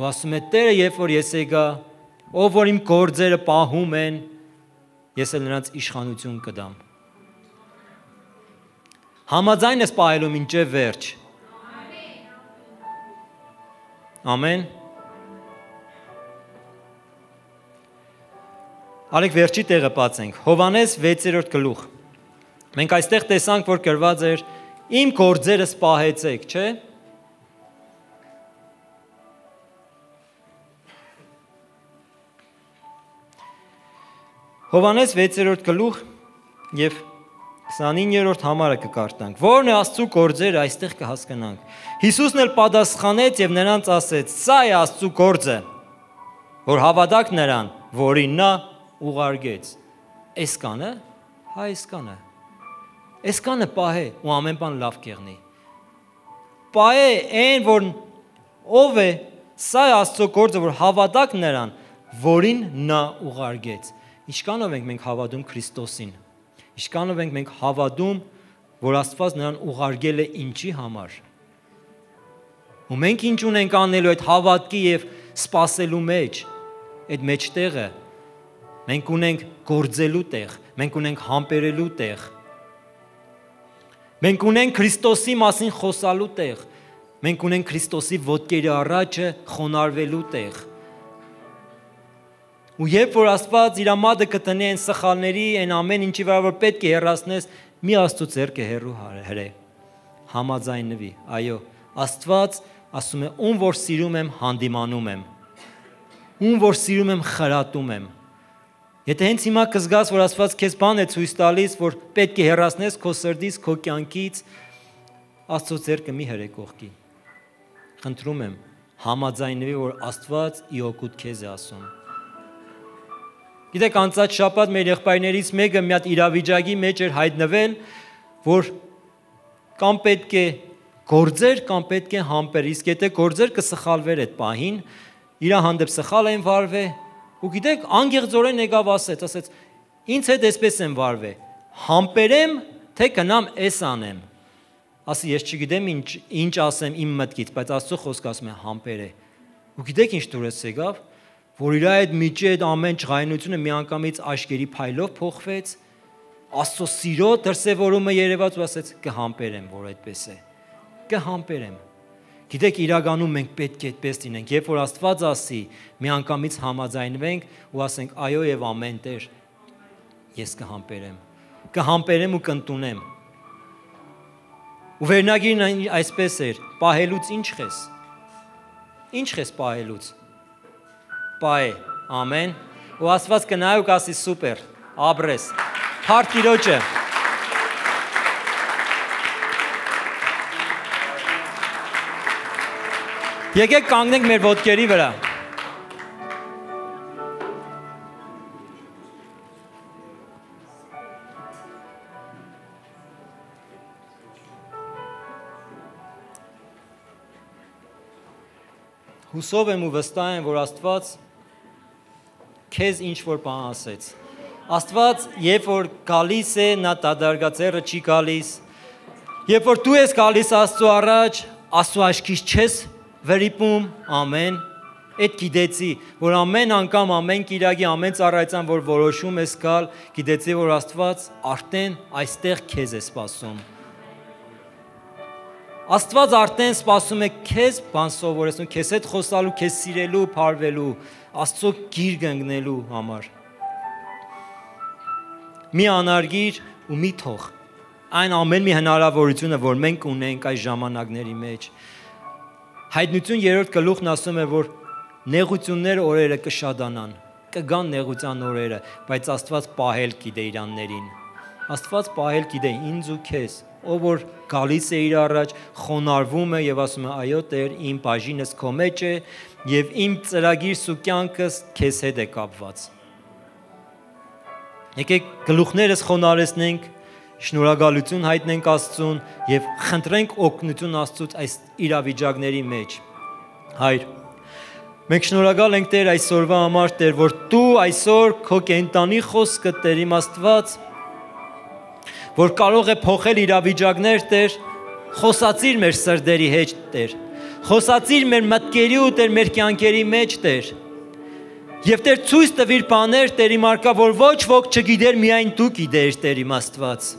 Ու ասում է Տերը, երբ որ ես եկա, ով որ իմ գործերը պահում են, ես էլ նրանց իշխանություն կդամ։ Համաձայն ես պահելու մինչև վերջ։ Ամեն։ Արեք վերջի տեղը բացենք։ Հովհաննես վեցերորդ գլուխ։ Մենք այստեղ տեսանք, որ գրված էր իմ գործերս պահեցեք, չէ՞։ Հովհաննես վեցերորդ գլուխ եւ քսանիններորդ համարը կկարդանք։ Որն է Աստծու գործերը, այստեղ կհասկանանք։ Հիսուսն էլ պատասխանեց եւ նրանց ասեց. «Սա է Աստծու գործը, որ հավատաք նրան, որին նա ուղարկեց»։ Էս կանը, հա էս կանը։ Էս կանը պահե ու ամեն բան լավ կեղնի։ Պահե այն, որ ով է, սա է Աստծու գործը, որ հավատաք նրան, որին նա ուղարկեց։ Ինչքանով ենք մենք հավատում Քրիստոսին։ Ինչքանով ենք մենք հավատում, որ Աստված նրան ուղարկել է ինչի համար։ Ու մենք ինչ ունենք անելու այդ հավատքի եւ սпасելու մեջ, այդ մեջտեղը։ Մենք ունենք գործելու տեղ, մենք ունենք համբերելու տեղ։ Մենք ունենք Քրիստոսի մասին խոսալու տեղ։ Մենք ունենք Քրիստոսի ոտքերի առաջը խոնարհվելու տեղ։ Ու երբ որ Աստված իր մատը կտնի այն սխալների, այն ամեն ինչի վրա որ պետք է հեռացնես, մի Աստծո ձեռքը հեռու հրե։ Համաձայնվի։ Այո, Աստված ասում է, ում որ սիրում եմ, հանդիմանում եմ։ Ում որ սիրում եմ, խրատում եմ։ Եթե հենց հիմա կզգաս, որ Աստված քեզ բան է ցույց տալիս, որ պետք է հեռացնես քո սրտից, քո կյանքից, Աստծո ձեռքը մի հրե կողքի։ Խնդրում եմ, համաձայնվի, որ Աստված ի օգուտ քեզ է ասում։ Գիտեք, անցած շաբաթ մեր եղբայրներից մեկը մի հատ իրավիճակի մեջ էր հայտնվել, որ կամ պետք է գործեր, կամ պետք է համբեր, իսկ եթե գործեր կսխալվեր այդ պահին, իր հանդեպ սխալ են վարվել, ու գիտեք, անգեղծորեն եկավ ասեց, ասեց, ինձ հետ էսպես են վարվել, համբերեմ, թե կնամ էս անեմ։ Ասի, ես չգիտեմ ինչ, ինչ ասեմ իմ մտքից, բայց Աստծո խոսքը ասում է համբեր է։ Ու գիտեք ինչ դուրս եկավ, որ իր այդ միջի այդ ամեն ջղայնությունը միանգամից աշկերի փայլով փոխվեց, Աստծո սիրո դրսևորումը երևաց ու ասեց կհամբերեմ, որ այդպես է, կհամբերեմ։ Գիտեք, իրականում մենք պետք է այդպես լինենք, երբ որ Աստված ասի, միանգամից համաձայնվենք ու ասենք այո եւ ամեն Տեր, ես կհամբերեմ, կհամբերեմ ու կընդունեմ։ Ու վերնագիրն այսպես էր, պահելուց ինչ խես։ Ինչ խես պահելուց։ Պահե, ամեն, ու Աստված կնայ ու կասի սուպեր, աբրես, հարկ Տիրոջը։ Եկեք կանգնենք մեր ոտքերի վրա։ Հուսով եմ ու վստահ եմ, որ Աստված քեզ ինչ որ բան ասեց։ Աստված, երբ որ գալիս է, նա դադարգաձեռը չի գալիս։ Երբ որ դու ես գալիս Աստծո առաջ, Աստծո աչքից չես վրիպում, ամեն, այդ գիտեցի, որ ամեն անգամ, ամեն կիրակի, ամեն ծառայության, որ որոշում ես գալ, գիտեցի, որ Աստված արդեն այստեղ քեզ է սպասում։ Աստված արդեն սպասում է քեզ բան սովորեցնում, քեզ հետ խոսալու, քեզ սիրելու, փարվելու, Աստծո գիրկը ընկնելու համար։ Մի անարգիր ու մի թող։ Այն ամեն մի հնարավորությունը, որ մենք ունենք այս ժամանակների մեջ։ Հայտնություն երրորդ գլուխն ասում է, որ նեղությունները օրերը կշատանան, կգան նեղության օրերը, բայց Աստված պահել գիտե իրաններին։ Աստված պահել գիտե ինձ ու քեզ։ ով որ գալիս է իր առաջ, խոնարհվում է եւ ասում է այո Տեր, իմ բաժինս քո մեջ է եւ իմ ծրագիրս ու կյանքս քեզ հետ է կապված։ Եկեք գլուխներս խոնարհեցնենք, շնորհակալություն հայտնենք Աստծուն եւ խնդրենք օգնություն Աստծուց այս իրավիճակների մեջ։ Հայր, մենք շնորհակալ ենք Տեր այսօրվա համար, Տեր, որ դու այսօր քո կենտանի խոսքը Տեր իմ Աստված, որ կարող է փոխել իրավիճակներ, Տեր, խոսացիր մեր սրտերի հետ, Տեր, խոսացիր մեր մտքերի ու Տեր մեր կյանքերի մեջ, Տեր։ Եվ Տեր ցույց տվիր բաներ, Տեր իմ արկա, որ ոչ ոք չգիտեր, միայն դու գիտեր, Տեր իմ Աստված։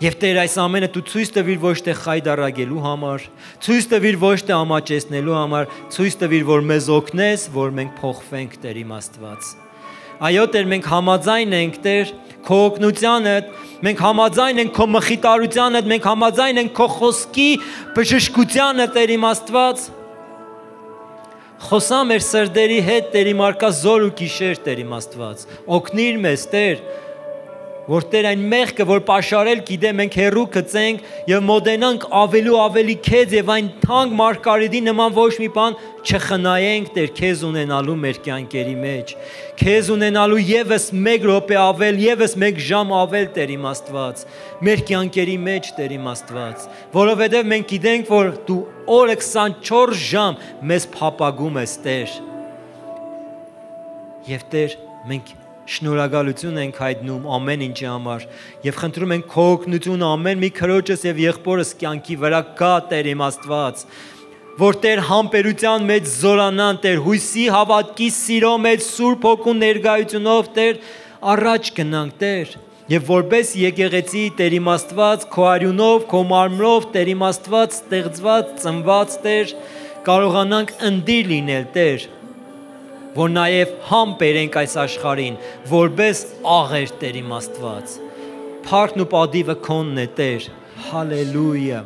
Եվ Տեր այս ամենը դու ցույց տվիր ոչ թե խայդարագելու համար, ցույց տվիր ոչ թե ամաչեցնելու համար, ցույց տվիր, որ մեզ օգնես, որ մենք փոխվենք, Տեր իմ Աստված։ Այո, Տեր, մենք համաձայն ենք, Տեր, քո օգնությանդ, մենք համաձայն ենք քո մխիթարությանդ, մենք համաձայն ենք քո խոսքի բժշկությանը, Տեր իմ Աստված։ Խոսա մեր սրտերի հետ, Տեր իմ արկա զոր ու գիշեր, Տեր իմ Աստված։ Օգնիր մեզ, Տեր, որ Տեր այն մեղքը, որ պաշարել գիտե, մենք հեռու գցենք եւ մոտենանք ավելի ու ավելի քեզ եւ այն թանկ մարգարիտի նման ոչ մի բան չխնայենք, Տեր, քեզ ունենալու մեր կյանքերի մեջ։ Քեզ ունենալու եւս մեկ րոպե ավել, եւս մեկ ժամ ավել, Տեր իմ Աստված, մեր կյանքերի մեջ, Տեր իմ Աստված, որովհետեւ մենք գիտենք, որ դու օրը քսանչորս ժամ մեզ փապագում ես, Տեր։ Եվ Տեր, մենք շնորհակալություն ենք հայտնում ամեն ինչի համար եւ խնդրում ենք քո օգնությունը ամեն մի քրոջս եւ եղբորս կյանքի վրա գա, Տեր իմ Աստված, որ Տեր համբերության մեջ զորանան, Տեր հույսի, հավատքի, սիրո մեջ Սուրբ Հոգու ներկայությունով, Տեր, առաջ գնանք, Տեր, եւ որպես եկեղեցի, Տեր իմ Աստված, քո արյունով, քո մարմնով, Տեր իմ Աստված, ստեղծված, ծնված, Տեր, կարողանանք ընդիր լինել, Տեր, որ նաև համ բերենք այս աշխարհին, որպես աղեր, Տեր իմ Աստված։ Փառքն ու պատիվը քոնն է, Տեր։ Հալելույա։